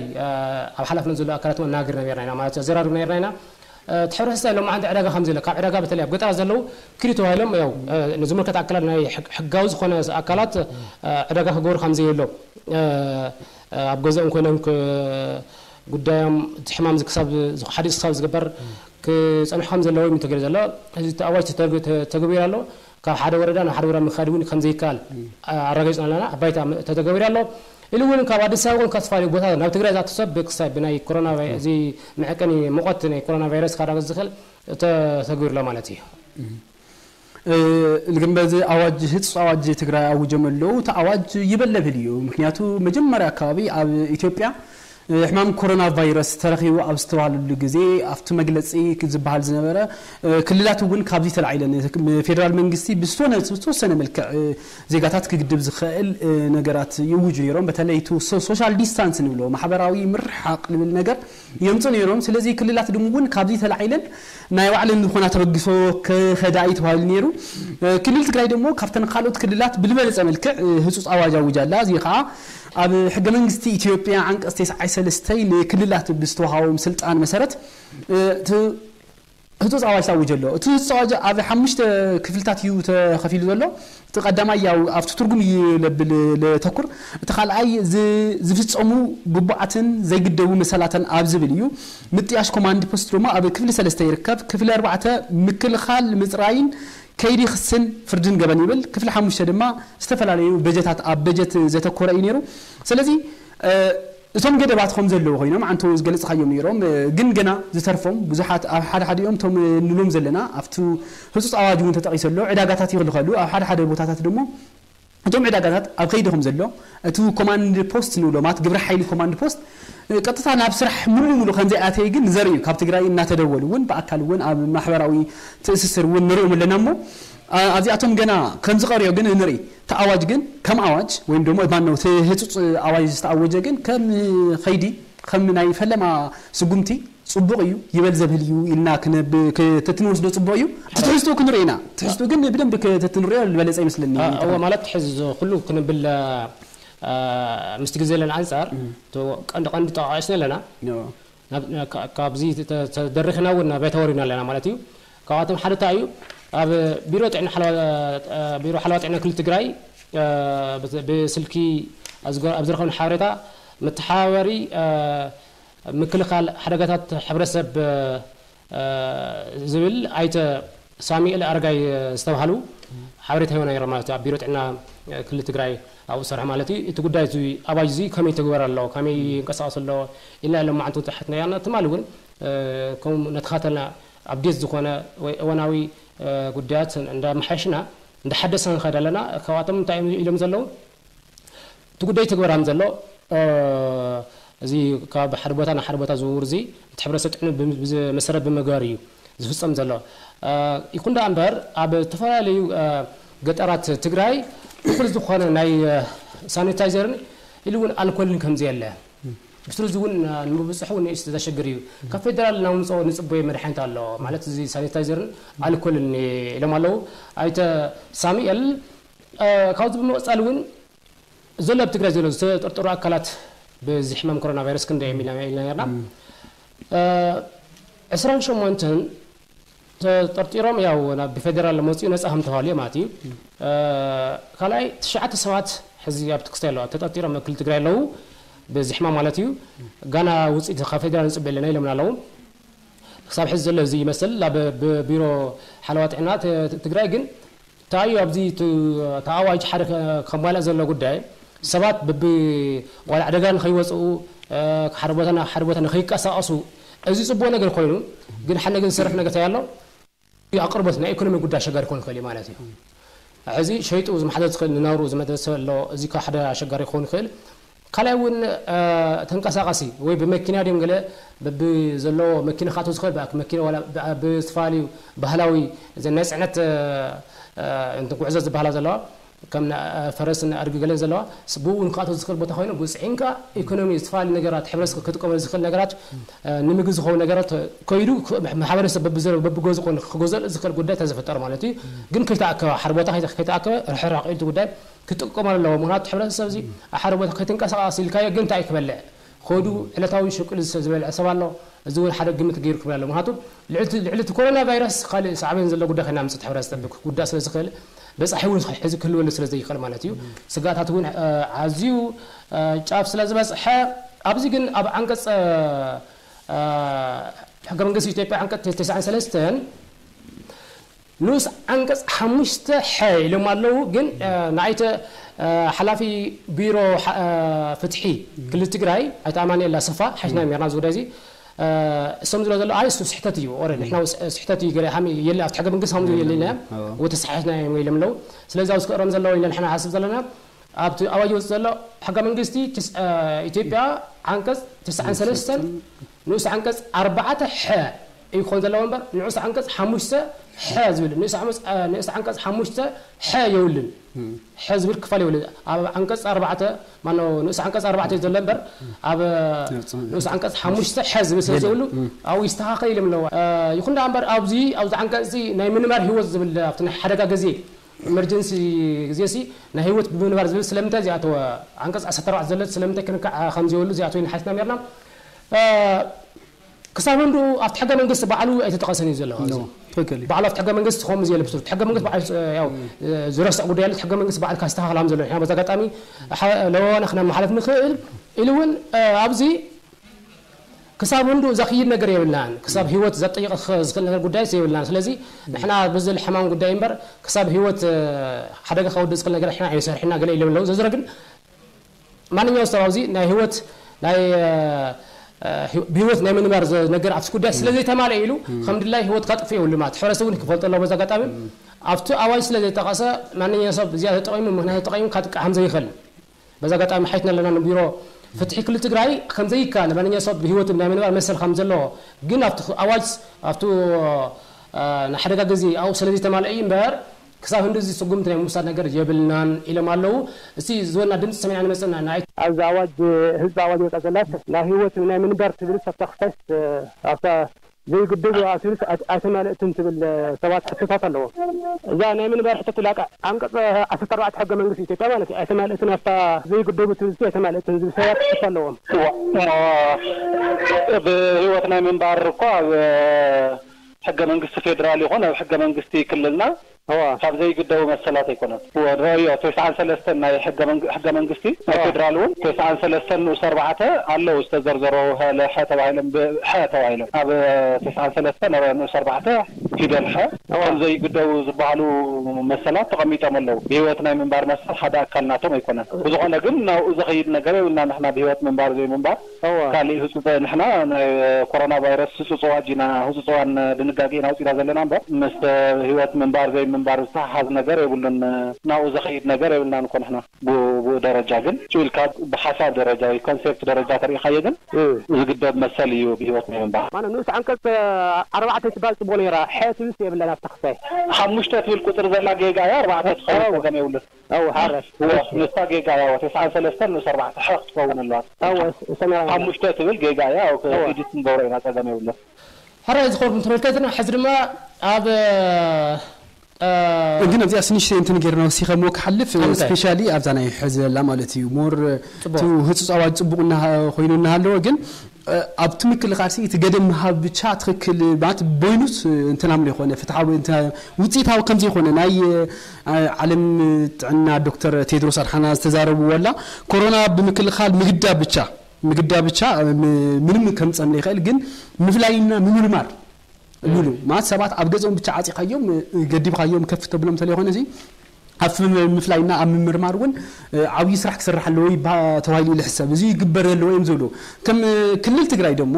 ኣብ ሓላፍነት ዘሎ ኣካላት እውን እናገርና ነርና ኢና ማለት እዩ፣ ኣዘራርብና ነርና ኢና። እቲ ሕብረተሰብ ሎማዓንቲ ዕዳጋ ከም ዘሎ፣ ካብ ዕዳጋ በተለይ ኣብ ገጠራት ዘለዉ ክልል ተባሂሎም ያው ንዝምልከት ኣካላት፣ ናይ ሕጋዊ ዝኾነ ኣካላት ዕዳጋ ክገብሩ ከም ዘየሎ፣ ኣብ ገዛኦም ኮይኖም ጉዳዮም እቲ ሕማም ክሳብ ሓዲስ ክሳብ ዝግበር ክፀንሑ ከም ዘለዎም እዩ ተገይሩ ዘሎ። እዚ ኣዋጅ ተተግቢሩ ኣሎ። ካብ ሓደ ወረዳ ናብ ሓደ ወረዳ ምኻድ እውን ከም ዘይከኣል ኣረጋጊፅና ኣለና። ኣባይታ ተተገቢሩ ኣሎ። ኢሉ እውን ካብ ኣዲስ ኣበባ እውን ካብ ዝተፈላለዩ ቦታ ናብ ትግራይ ዝኣቱ ሰብ ክሳብ ብናይ ኮሮና ቫይ-፣ እዚ መዐቀኒ ሙቐት ናይ ኮሮና ቫይረስ ካረጋግፅ ዝኽእል ተተግቢሩ ኣሎ ማለት እዩ። ግን በዚ ኣዋጅ፣ ህፁፅ ኣዋጅ ትግራይ ኣውጆም ኣለዉ። እቲ ኣዋጅ ይበለብል እዩ። ምክንያቱ መጀመርያ ኣካባቢ ኣብ ኢትዮጵያ ሕማም ኮሮና ቫይረስ ተረኺቡ ኣብ ዝተባሃለሉ ግዜ ኣብቲ መግለፂ ዝበሃል ዝነበረ ክልላት እውን ካብዚ ተላዒለን ፌደራል መንግስቲ ብዝተወሰነ መልክዕ ዜጋታት ክግድብ ዝኽእል ነገራት ይውጁ ነይሮም። በተለይ እቲ ሶሻል ዲስታንስ ንብሎ ማሕበራዊ ምርሓቕ ዝብል ነገር የምፁ ነይሮም። ስለዚ ክልላት ድም እውን ካብዚ ተላዒለን ናይ ባዕለን ዝኾና ተበግሶ ክኸዳ እዩ ተባሂሉ ነይሩ። ክልል ትግራይ ደሞ ካብተን ካልኦት ክልላት ብዝበለፀ መልክዕ ህፁፅ ኣዋጅ ኣውጃ ኣላ። እዚ ከዓ ኣብ ሕገ መንግስቲ ኢትዮጵያ ዓንቀፅ ተስዓይ ሰለስተ ንክልላት ብዝተዋሃቦም ስልጣን መሰረት እቲ ህፁፅ ኣዋጅ ታውጀ ኣሎ። እቲ ህፁፅ ኣዋጅ ኣብ ሓሙሽተ ክፍልታት እዩ ተኸፊሉ ዘሎ። እቲ ቀዳማይ ያው ኣብቲ ትርጉም እዩ ለብል ለተኩር። እቲ ካልኣይ ዝ-፣ ዝፍፀሙ ግቡኣትን ዘይግደቡ መሰላትን ኣብ ዝብል እዩ። ምጥያሽ ኮማንድ ፖስት ድማ ኣብ ክፍሊ ሰለስተ ይርከብ። ክፍሊ ኣርባዕተ ምክልኻል ምፅራይን ከይዲ ክስን ፍርድን ገበን ይብል። ክፍሊ ሓሙሽተ ድማ ዝተፈላለዩ በጀታት ኣብ በጀት ዘተኮረ እዩ ነይሩ። ስለዚ እቶም ገደባት ከም ዘለዉ ኮይኖም ዓንቶ ዝገለፅካዮም ነይሮም፣ ግን ገና ዝተርፎም ብዙሓት ኣብ ሓደ ሓዲኦም እቶም ንብሎም ዘለና ኣብቲ ህፁፅ ኣዋጅ እውን ተጠቒሱ ኣሎ። ዕዳጋታት ይኽልኸሉ ኣብ ሓደ ሓደ ቦታታት ደሞ እቶም ዕዳጋታት ኣብ ከይዲ ከም ዘሎ እቲ ኮማንድ ፖስት ንብሎ ማለት ግብረ ሓይሊ ኮማንድ ፖስት ቀጥታ ናብ ስራሕ ሙሉ ሙሉ ከም ዘይኣተየ ግን ዘርኢ እዩ። ካብ ትግራይ እናተደወሉ እውን ብኣካል እውን ኣብ ማሕበራዊ ትእስስር እውን ንሪኦም ኣለና እሞ ኣብዚኣቶም ገና ከም ዝቐርዮ ግን ንርኢ። እቲ ኣዋጅ ግን ከም ኣዋጅ ወይም ደሞ ማነው እቲ ህፁፅ ኣዋጅ ዝተኣወጀ ግን ከም ኸይዲ ከም ናይ ፈለማ ስጉምቲ ፅቡቕ እዩ ይበል ዘብል እዩ ኢልና ክንብ-፣ ክተትንወስዶ ፅቡቕ እዩ። እቲ ትሕዝትኡ ክንርኢ ኢና። ትሕዝትኡ ግን ብደንብ ክተትንሪኦ ዝበለፀ ይመስለኒ። እወ፣ ማለት ሕዚ ኩሉ ክንብል ምስቲ ግዜ ዘለና ኣንፃር ቀንዲ ቀንዲ ጠቃቂስና ኣለና። ካብዚ ተደሪኽና እውን ናባይ ተወሪና ኣለና ማለት እዩ። ካብኣቶም ሓደ እንታይ እዩ? ኣብ ቢሮ ጥዕና ሓለዋ-፣ ቢሮ ሓለዋ ጥዕና ክልል ትግራይ ብስልኪ ኣብ ዝረኸብና ሓበሬታ መተሓባበሪ ምክልኻል ሓደጋታት ሕብረተሰብ ዝብል ኣይተ ሳሚኤል ኣረጋይ ዝተባሃሉ ሓበሬታ ሂቦና ነይሮም ማለት እዩ። ኣብ ቢሮ ጥዕና ክልል ትግራይ ኣብኡ ዝሰርሑ ማለት እዩ። እቲ ጉዳይ እዚ ኣዋጅ እዚ ከመይ ይትግበር ኣሎ፣ ከመይ ይንቀሳቐስ ኣሎ ኢልና ሎማዓንቲ እውን ተሓትና ኢና። ትማሊ እውን ከምኡ እናተኸታተልና ኣፕዴት ዝኾነ ወይ እዋናዊ ጉዳያት እንዳመሓየሽና እንዳሓደስና ንኸይድ ኣለና። ካብኣቶም እንታይ እዮም ኢሎም ዘለዉ? እቲ ጉዳይ ይትግበር ከም ዘሎ እዚ ካብ ሓደ ቦታ ናብ ሓደ ቦታ ዝውውር እዚ እቲ ሕብረተሰብ ጥዕና መሰረት ብምግባር እዩ ዝፍፀም ዘሎ። ይኹን ደኣ እምበር ኣብ ዝተፈላለዩ ገጠራት ትግራይ እኹል ዝኾነ ናይ ሳኒታይዘርን ኢሉ እውን ኣልኮልን ከም ዘየለ ብስሩ እዚ እውን ንምብፅሑ እውን ንእሽቶ ዘሸግር እዩ። ካብ ፌደራል እናምፅኦ ንፅበዮ መድሓኒት ኣሎ ማለት እዚ ሳኒታይዘርን ኣልኮልን ኢሎም ኣለዉ ኣይተ ሳሙኤል። ካብዚ ብምቕፃል እውን ዘሎ ኣብ ትግራይ ዘሎ ዝተጠርጠሩ ኣካላት በዚ ሕማም ኮሮና ቫይረስ ክንደይ እዮም ኢልና ኢልና ነርና። ዕስራን ሸሞንተን ተጠርጢሮም ያው ናብ ብፌደራል መፅኡ ነፃ ከም ተባሃሉ እዮም ማለት እዩ። ካልኣይ ትሽዓተ ሰባት ሕዚ ኣብቲ ክስታይ ኣለዋ ተጠርጢሮም ኣብ ክልል ትግራይ ኣለዉ በዚ ሕማም ማለት እዩ። ጋና ውፅኢት ካብ ፌደራል ንፅበ ኣለና ኢሎምና ኣለዉ። ክሳብ ሕዚ ዘሎ እዚ ይመስል። ኣብ ብ- ቢሮ ሓለዋ ጥዕና ት- ትግራይ ግን እንታይ እዩ ኣብዚ እቲ እቲ ኣዋጅ ሓደ ከ- ከማልእ ዘሎ ጉዳይ ሰባት ብብ ዋላ ዕደጋ ንኸይወፅኡ፣ ሓደ ቦታ ናብ ሓደ ቦታ ንኸይቀሳቐሱ፣ እዚ ፅቡቅ ነገር ኮይኑ፣ ግን ሓደ ነገር ዝሰርሕ ነገር እንታይ ኣሎ? ኣቅርቦት ናይ ኢኮኖሚ ጉዳይ ኣሸጋሪ ክኾን ይኽእል እዩ ማለት እዩ። ሕዚ ሸይጡ ዝመሓደር ዝኽእል ንናብሩ ዝመደሰ ኣሎ፣ እዚ ካብ ሓደ ኣሸጋሪ ክኸውን ይኽእል። ካልኣይ እውን ተንቀሳቃሲ ወይ ብመኪና ድዮም ገለ ብዘለዎ መኪና ክኣትው ዝኽእል ብኣክ መኪና ዋላ ብዝተፈላለዩ ባህላዊ ናይ ፅዕነት ጉዕዞ ዝበሃላ ዘለዋ ከም ፈረስን ኣድጊ ገለን ዘለዋ ብኡ እውን ክኣትው ዝኽእል ቦታ ኮይኑ ብፅዒንካ ኢኮኖሚ ዝተፈላለዩ ነገራት ሕብረተሰብ ክጥቀመሉ ዝኽእል ነገራት ንምግቢ ዝኸውን ነገራት ከይዱ ማሕበረሰብ በብዘሎ በብገዝኡ ኮነ ክገዝኦ ዝኽእል ጉዳይ ተዝፍጠር ማለት እዩ። ግን ከይተኣከበ ሓደ ቦታ ከይተ- ከይተኣከበ ርሕራቕ ኢሉ እቲ ጉዳይ ክጥቀመሉ ኣለዎ። ምክንያቱ ሕብረተሰብ እዚ ኣብ ሓደ ቦታ ከይትንቀሳቐስ ኢልካዮ ግን እንታይ እዩ ክበልዕ? ከይዱ ዕለታዊ ሽቅል ዝሰ- ዝበልዐ ሰብ ኣሎ። እዚ እውን ሓደ ግምት ገይሩ ክብል ኣለዎ። ምክንያቱ ልዕሊ እቲ- ልዕሊ እቲ ኮሮና ቫይረስ ካልእ ሳዕቤን ዘለዎ ጉዳይ ከይናምፅእ እቲ ሕብረተሰብ ክጉዳእ ስለ ዝኽእል በፃሒ እውን ሕዚ ክህልወሉ ስለ ዘይኽእል ማለት እዩ። ስጋኣታት እውን ኣዝዩ ጫፍ ስለ ዝበፅሐ ኣብዚ ግን ኣብ ዓንቀፅ ሕገ መንግስቲ ኢትዮጵያ ዓንቀፅ ተስዓን ሰለስተን ንኡስ ዓንቀፅ ሓሙሽተ ሐ ኢሎም ኣለዉ። ግን ንኣይተ ሓላፊ ቢሮ ፍትሒ ክልል ትግራይ ኣይተ ኣማኑኤል ኣሰፋ ሓይትና ሜርና ዝጉዳይ እዚ እሶም ዝብሎ ዘሎ ኣይ እሱ ስሕተት እዩ ኦረ ንሕና ስሕተት እዩ ገለ ሃሚ የለ ኣብቲ ሕገ መንግስቲ ሃምዙ የለ ኢና ወተሳሒትና እዮም ኢሎም ኣለዉ። ስለዚ ኣብዚ ክእረም ዘለዎ ኢለ ንሕና ሓስብ ዘለና ኣብቲ ኣዋጅ ወፅ ዘሎ ሕገ መንግስቲ ኢትዮጵያ ዓንቀፅ ተስዓን ሰለስተን ንኡስ ዓንቀፅ ኣርባዕተ ሐ እዩ ክኾን ዘለዎ እምበር ንዑስ ዓንቀፅ ሓሙሽተ ሐ ዝብል ንኡስ ዓንቀፅ ሓሙሽተ ሐ የውልን ሐ ዝብል ክፋል የውልን ኣብ ዓንቀፅ ኣርባዕተ ማኖ ንኡስ ዓንቀፅ ኣርባዕተ እዩ ዘሎ እምበር ኣብ ንኡስ ዓንቀፅ ሓሙሽተ ሐ ዝብል ስለ የብሉ ኣብኡ ይስተኻኸል ኢሎም ኣለዎ። ይኹን ደኣ እምበር ኣብዚ ኣብዚ ዓንቀፅ እዚ ናይ ምንባር ህይወት ዝብል ኣብቲ ናይ ሓደጋ ግዜ ኢመርጀንሲ ግዜ ሲ ናይ ህይወት ብምንባር ዝብል ስለምንታይ እዚኣተወ ዓንቀፅ ዓሰርተ ኣርባዕተ ዘሎ ስለምንታይ ክንካዕ ከም ዘይብሉ እዚኣተወ ሓቲትና ሜርና ክሳብ እንዱ ኣብቲ ሕገ መንግስቲ ባዕሉ ኣይተጠቐሰን እዩ ዘሎ ትክክል እዩ። ባዕሉ ኣብቲ ሕገ መንግስቲ ከምኡ ዝየለ ብስሩ ሕገ መንግስቲ ባዕሉ ያው ዝረስዕ ጉዳይ ኣሎ ሕገ መንግስቲ ባዕሉ ካስተኻኽል ከም ዘሎ ንሕና በዚ ኣጋጣሚ ለዋዋና ክነመሓለፍ ንኽእል ኢሉ እውን ኣብዚ ክሳብ እንዱ ዘኽይድ ነገር የብልናን ክሳብ ህይወት ዘጠይቕ ዝኽእል ነገር ጉዳይ የብልናን ስለዚ ንሕና ብዝል ሕማም ጉዳይ እምበር ክሳብ ህይወት ሓደጋ ከወድእ ዝኽእል ነገር ንሕና ኣይንሰርሕና ገለ ኢሎም ኣለዉ ዘዝረ ግን ማንኛው ሰብ ኣብዚ ናይ ህይወት ናይ ብህይወት ናይ ምንባር ነገር ኣብቲ ጉዳይ ስለ ዘይተማልአ ኢሉ ከም ድላይ ህይወት ካጥፍ የብሉ ማለት ሕብረተሰብ እውን ክፈልጦ ኣለዎ በዚ ኣጋጣሚ ኣብቲ ኣዋጅ ስለ ዘይጠቐሰ ማንኛው ሰብ እዚኣ ተጠቂሙ ምክንያት ተጠቂሙ ካጥቃ ከም ዘይኽእል በዚ ኣጋጣሚ ሓይትና ኣለና ንቢሮ ፍትሒ ክልል ትግራይ ከም ዘይከኣል ማንኛው ሰብ ብህይወት ናይ ምንባር መሰል ከም ዘለዎ ግን ኣብቲ ኣዋጅ ኣብቲ ንሓደጋ ግዜ ኣብኡ ስለ ዘይተማልአ እዩ እምበር ክሳብ ህንዲ እዚ ስጉምቲ ናይ ምውሳድ ነገር የብልናን ኢሎም ኣለዉ። እስቲ ዝወና ድምፂ ሰሚዕና ንመፅና ንኣይ ኣብዚ ኣዋጅ ህዝቢ ኣዋጅ ወፃ ዘላስ ናይ ህይወት ናይ ምንባር ትብል ሰብታ ክሳይስ ኣብታ ዘይግድቡ ኣትብልስ ኣይተማልእትን ትብል ሰባት ሕቶታት ኣለዎም። እዛ ናይ ምንባር ሕቶ ትላቃ ዓንቀፅ ዓሰርተ ኣርባዕተ ሕገ መንግስቲ ኢትዮጵያ ማለት እዩ ኣይተማልእትን ኣብታ ዘይግደቡ ትብልሲ ኣይተማልእትን ዝብል ሰባት ክስ ኣለዎም። ብህይወት ናይ ምንባር እኮ ኣብ ሕገ መንግስቲ ፌዴራል ይኹን ኣብ ሕገ መንግስቲ ክልልና ካብ ዘይግደቡ መሰላት ኣይኮነን። ረእዮ ተስዓን ሰለስተን ናይ ሕገ መንግስቲ ናይ ፌዴራል እውን ተስዓን ሰለስተን ንኡስ ኣርባዕተ ኣለዉ ዝተዘርዘሩ ሐ ተባሂሎም ብሐ ተባሂሎም ኣብ ተስዓን ሰለስተን ንኡስ ኣርባዕተ ፊደል ሐ ከም ዘይግደቡ ዝበሃሉ መሰላት ተቐሚጦም ኣለዉ። ብህይወት ናይ ምንባር መሰል ሓደ ኣካል ናቶም ኣይኮነን። ብዝኾነ ግን ናብኡ ዘኸይድ ነገር የብልና ንሕና ብህይወት ምንባር ዘይምንባር ካልእ ህፁፀ ንሕና ናይ ኮሮና ቫይረስ ህፁፅ ኣዋጅ ኢና ህፁፅ እዋን ድንጋጌ ኢና ኣውፂና ዘለና እምበር ምስ ህይወት ምንባር ዘይምንባር ዝተሓሓዝ ነገር የብሉን። ናብኡ ዘኸይድ ነገር የብልናን እኮ ንሕና ብኡ ደረጃ ግን ጭውልካ ብሓሳብ ደረጃ ወይ ኮንሴፕት ደረጃ ተሪኢኻዮ ግን ዝግደብ መሰል እዩ ብህይወት ናይ ምንባር። ማለት ንኡስ ዓንቀፅ ኣርባዕተ ትባል ፅቡቅ ነይራ ሐ ትብልስ የብላን ኣብታ ክሳይ ሓሙሽተ ትብል ቁፅሪ ዘላ ጌጋ እያ ኣርባዕተ ትኸውን ፀገም የብሉን። ኣው ሓራሽ ንሳ ጌጋ እያ ተስዓን ሰለስተን ንኡስ ኣርባዕተ ሐ ክትኸውን ኣለዋ። ኣው ሰሚራ ሓሙሽተ ትብል ጌጋ እያ ኢዲት ንገብሮ ኢና ፀገም የብሉን። ሕራይ ዝኸርኩም ተመልከትና ሕዚ ድማ ኣብ ግን ኣብዚኣ ስንሽተይ እንትን ጌርና ወሲኸ ሞ ክሓልፍ ስፔሻሊ ኣብዛ ናይ ሕዚ ዘላ ማለት እዩ ሞር እቲ ህፁፅ ኣዋጅ ፅቡቅ ኮይኑ እናሃለወ ግን ኣብቲ ምክልኻል እቲ ገደብ ምሃብ ብቻ ትኽክል ማለት ቦይኑስ እንትን ኣምሎ ይኮነ ፍትሓዊ ውፅኢታዊ ከምዘይኮነ ናይ ዓለም ጥዕና ዶክተር ቴድሮስ ኣድሓና ዝተዛረብዎ ኣላ ኮሮና ብምክልኻል ምግዳብ ብቻ ምግዳብ ብቻ ምንም ከምፀም ይኽእል ግን ምፍላይና ምምርማር ሉሉ ማለት ሰባት ኣብ ገዝኦም ብቻ ዓፂኻዮም ገዲብኻዮም ከፍ ተብሎም እንተለይኮነ እዚ ኣብ ምፍላይና ኣብ ምምርማር እውን ዓብዪ ስራሕ ክስራሕ ኣለዎ ይባ ተባሂሉ ይሕሰብ። እዚ ይግበር ዘለዎ እዮም ዝብሉ። ከም ክልል ትግራይ ደሞ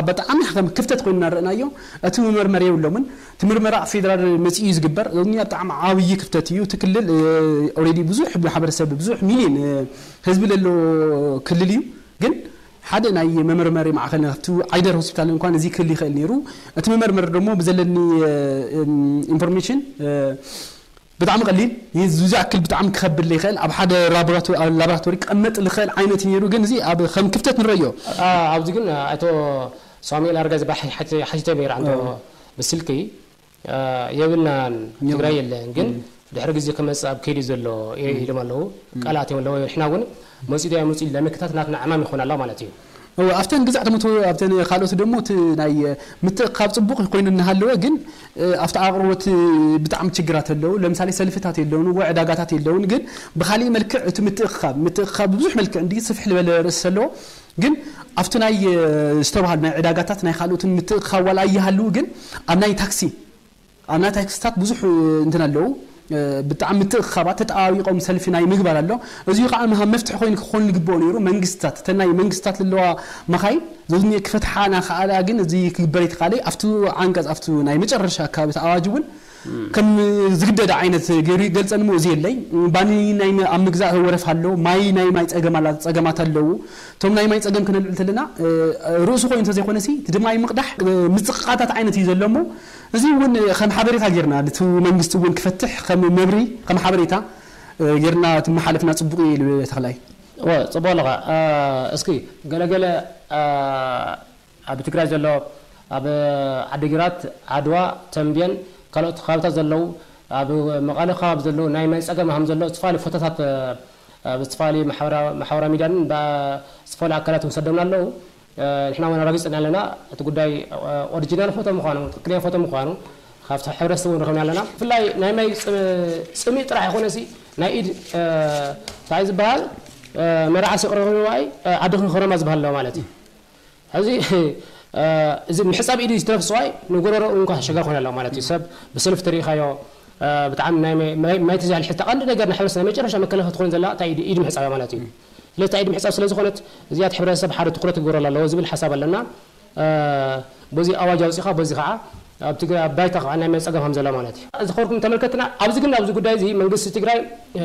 ብጣዕሚ ከም ክፍተት ኮይኑ እናረእናዮ እቲ መመርመሪ የብሎምን። እቲ ምርመራ ኣብ ፌደራል መፂኡ እዩ ዝግበር። እዚ ብጣዕሚ ዓብዪ ክፍተት እዩ። እቲ ክልል ኦልሬዲ ብዙሕ ማሕበረሰብ ብዙሕ ሚሊዮን ህዝቢ ለሎ ክልል እዩ። ግን ሓደ ናይ መመርመሪ ማዕኸል ኣብቲ ዓይደር ሆስፒታል እንኳን እዚ ክህል ይኽእል ነይሩ። እቲ መመርመሪ ደሞ ብዘለኒ ኢንፎርሜሽን ብጣዕሚ ቀሊል እዩ። ዝኣክል ብጣዕሚ ክኸብድ ይኽእል ኣብ ሓደ ላቦራቶሪ ክቐመጥ ዝኽእል ዓይነት እዩ ነይሩ። ግን እዚ ኣብ ከም ክፍተት ንረዮ። ኣብዚ ግን ኣቶ ሳሙኤል ኣረጋ ዝበሃል ሓቲተ ነይረ ኣንቶ ብስልኪ የብልናን ትግራይ የለን ግን ድሕሪ ግዜ ክመፅእ ኣብ ከይዲ ዘሎ ኢሎም ኣለዉ። ቃላት እዮም ኣለዎ። ንሕና እውን መፂኡ ዶ ኣይመፅኡ ለምክታት ናትና ዕማም ይኾን ኣሎ ማለት እዩ። እወ ኣብተን ግዛዕ ተመቶ ኣብተን ካልኦት ደሞ እቲ ናይ ምትእኻብ ፅቡቕ ኮይኑ እናሃለወ ግን ኣብቲ ኣቕርቦት ብጣዕሚ ችግራት ኣለዉ። ለምሳሌ ሰልፍታት የለውን፣ ወይ ዕዳጋታት የለውን። ግን ብካሊእ መልክዕ እቲ ምትእኻብ ምትእኻብ ብዙሕ መልክዕ እንዲ ስፍሕ ዝበለ ርእሲ ዘለዎ ግን ኣብቲ ናይ ዝተባሃሉ ናይ ዕዳጋታት ናይ ካልኦትን ምትእኻብ ዋላ ኣይሃልው ግን ኣብ ናይ ታክሲ ኣብ ናይ ታክስታት ብዙሕ እንትን ኣለዉ ብጣዕሚ ምትእኽኻባት ተጠባቢቖም ሰልፊ ናይ ምግባር ኣሎ። እዚ ከዓ መሃ መፍትሒ ኮይኑ ክኾን ዝግብኦ ነይሩ። መንግስታት እተን ናይ መንግስታት ዘለዋ መኻይን ዘዝኒ ክፈትሓ ናኸኣላ ግን እዚ ክግበር የተኻለ ኣብቲ ዓንቀፅ ኣብቲ ናይ መጨረሻ ኣካባቢ እቲ ኣዋጅ እውን ከም ዝግደደ ዓይነት ገይሩ ይገልፀኒ እሞ እዚ የለይ። ባኒ ናይ ኣብ ምግዛእ ወረፍ ኣሎ። ማይ ናይ ማይ ፀገማት ኣለዉ። እቶም ናይ ማይ ፀገም ክነልዕል ተለና ርእሱ ኮይኑ እንተዘይኮነሲ እቲ ድማ ምቕዳሕ ምፅቕቓታት ዓይነት እዩ ዘሎ እሞ እዚ እውን ከም ሓበሬታ ጌርና ነቲ መንግስቲ እውን ክፈትሕ ከም መብሪ ከም ሓበሬታ ጌርና ትመሓለፍና ፅቡቅ እዩ ኢሉ ተኽላይ። እወ ፅቡቅ ኣለኻ። እስኪ ገለገለ ኣብ ትግራይ ዘሎ ኣብ ዓዲግራት፣ ዓድዋ፣ ተምቤን ካልኦት ከባብታት ዘለዉ ኣብ መቐለ ከባቢ ዘለዉ ናይ ማይ ፀገም ከም ዘሎ ዝተፈላለዩ ፎቶታት ኣብ ዝተፈላለዩ ማሕበራዊ ሚድያን ዝተፈላለዩ ኣካላት እውን ሰዶምና ኣለዉ። ንሕና እውን ኣረጋጊፅና ኣለና እቲ ጉዳይ ኦሪጂናል ፎቶ ምኳኑ ትክክለኛ ፎቶ ምኳኑ ካብቲ ሕብረተሰብ እውን ረክብና ኣለና። ብፍላይ ናይ ማይ ፅምኢ ጥራሕ ይኮነሲ ናይ ኢድ እንታይ ዝበሃል መርዓ ሲቅረበ ንዋይ ዓድኺ ክረማ ዝበሃል ኣለዎ ማለት እዩ። ሕዚ እዚ ምሕፃብ ኢድ ዝተረፍ ሰዋይ ንጎረሮ እንኳ ኣሸጋሪ ኮነ ኣለዎ ማለት እዩ። ሰብ ብሰልፊ ተሪኢኻዮ ብጣዕሚ ናይ ማይ ተዛልሒ ተቐንዲ ነገር ንሕብረተሰብ ናይ መጨረሻ መከላኸሊ ትኾን ዘላ እንታይ ኢድ ኢድ ምሕፃብ ማለት እዩ። ስለዚ እንታይ ኢድ ምሕፃብ ስለ ዝኾነት እዚኣ እቲ ሕብረተሰብ ሓደ ትኩረት ክግበረሉ ኣለዎ ዝብል ሓሳብ ኣለና። በዚ ኣዋጅ ኣውፂኻ በዚ ከዓ ኣብ ትግራይ ኣብ ባይታ ከዓ ናይ ማይ ፀገም ከም ዘሎ ማለት እዩ። ዝኸርኩም ተመልከትና ኣብዚ ግን ኣብዚ ጉዳይ እዚ መንግስቲ ትግራይ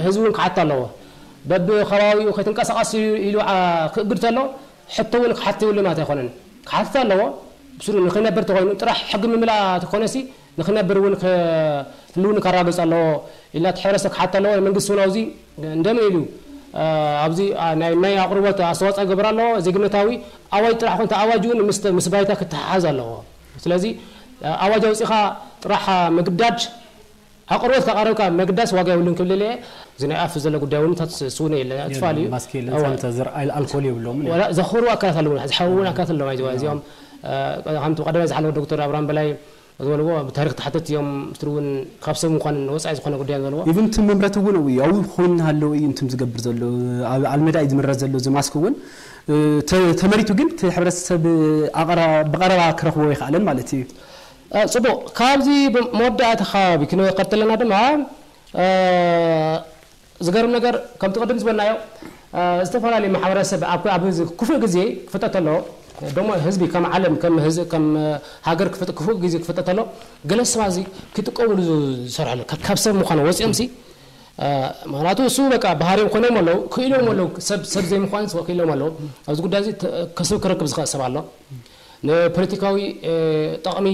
ህዝቢ እውን ክሓት ኣለዎ። በብከባቢኡ ከይትንቀሳቐስ ኢሉ ክእግድ ተሎ ሕቶ እውን ክሓት ይብሉ ማለት ኣይኮነን። ክሓትት ኣለዎ ብስሩ ንክነብር ተኮይኑ ጥራሕ ሕጊ ምምላእ ተኮነሲ ንክነብር እውን ህልውኒ ከራግፅ ኣለዎ ኢልና እቲ ሕብረተሰብ ክሓት ኣለዎ። መንግስቲ እውን ኣብዚ እንደምን ኢሉ ኣብዚ ናይ ማይ ኣቅርቦት ኣስተዋፅኦ ይገብር ኣለዎ። ዜግነታዊ ኣዋጅ ጥራሕ ኮንተ ኣዋጅ እውን ምስ ባይታ ክተሓሓዝ ኣለዎ። ስለዚ ኣዋጅ ኣውፂኻ ጥራሕ ምግዳድ ኣቅርቦት ካቀረብካ መግዳስ ዋጋ የብሉን ክብል እየ። እዚ ናይ ኣፍ ዘሎ ጉዳይ እውን ታት ስውነ የለ ትፋል እዩ። ማስክ የለን፣ ሳኒታይዘር፣ ኣልኮል የብሎምን እዮም። ዘኽሩ ኣካላት ኣለውና ዝሓወውን ኣካላት ኣለውና ይዘዋ እዚኦም ከምቲ ቀደማይ ዝሓለወ ዶክተር ኣብርሃም በላይ ዝበልዎ ብታሪክ ተሓተት እዮም። ምስቲ እውን ካብ ሰብ ምኳን ወፃኢ ዝኾነ ጉዳይ ዝበልዎ ኢቭን እቲ መምረቲ እውን ያው ኮይኑ ሃለው እዩ እንትም ዝገብር ዘሎ ኣብ ኣልመዳ እዩ ዝምረት ዘሎ እዚ ማስክ እውን ተመሪቱ ግን እቲ ሕብረተሰብ ብቐረባ ክረኽቦ ይኽኣለን ማለት እዩ። ፅቡቕ ካብዚ መወዳእታ ከባቢ ክንወቀድ ተለና ድማ ዝገርም ነገር ከምቲ ቅድም ዝበልናዮ ዝተፈላለዩ ማሕበረሰብ ኣብ ክፉእ ግዜ ክፍጠት ተሎ ደሞ ህዝቢ ከም ዓለም ከም ሃገር ክፉእ ግዜ ክፍጠት ተሎ ገለ ሰባት እዚ ክጥቀምሉ ዝሰርሐሉ ካብ ሰብ ምዃኑ ወፂኦም ሲ ምክንያቱ እሱ በቃ ባህሪም ኮይኖም ኣለዉ ክኢሎም ኣለዉ ሰብ ሰብ ዘይምዃን ክኢሎም ኣለዉ ኣብዚ ጉዳይ እዚ ከስብ ክረክብ ዝኽእል ሰብ ኣሎ ንፖለቲካዊ ጠቕሚ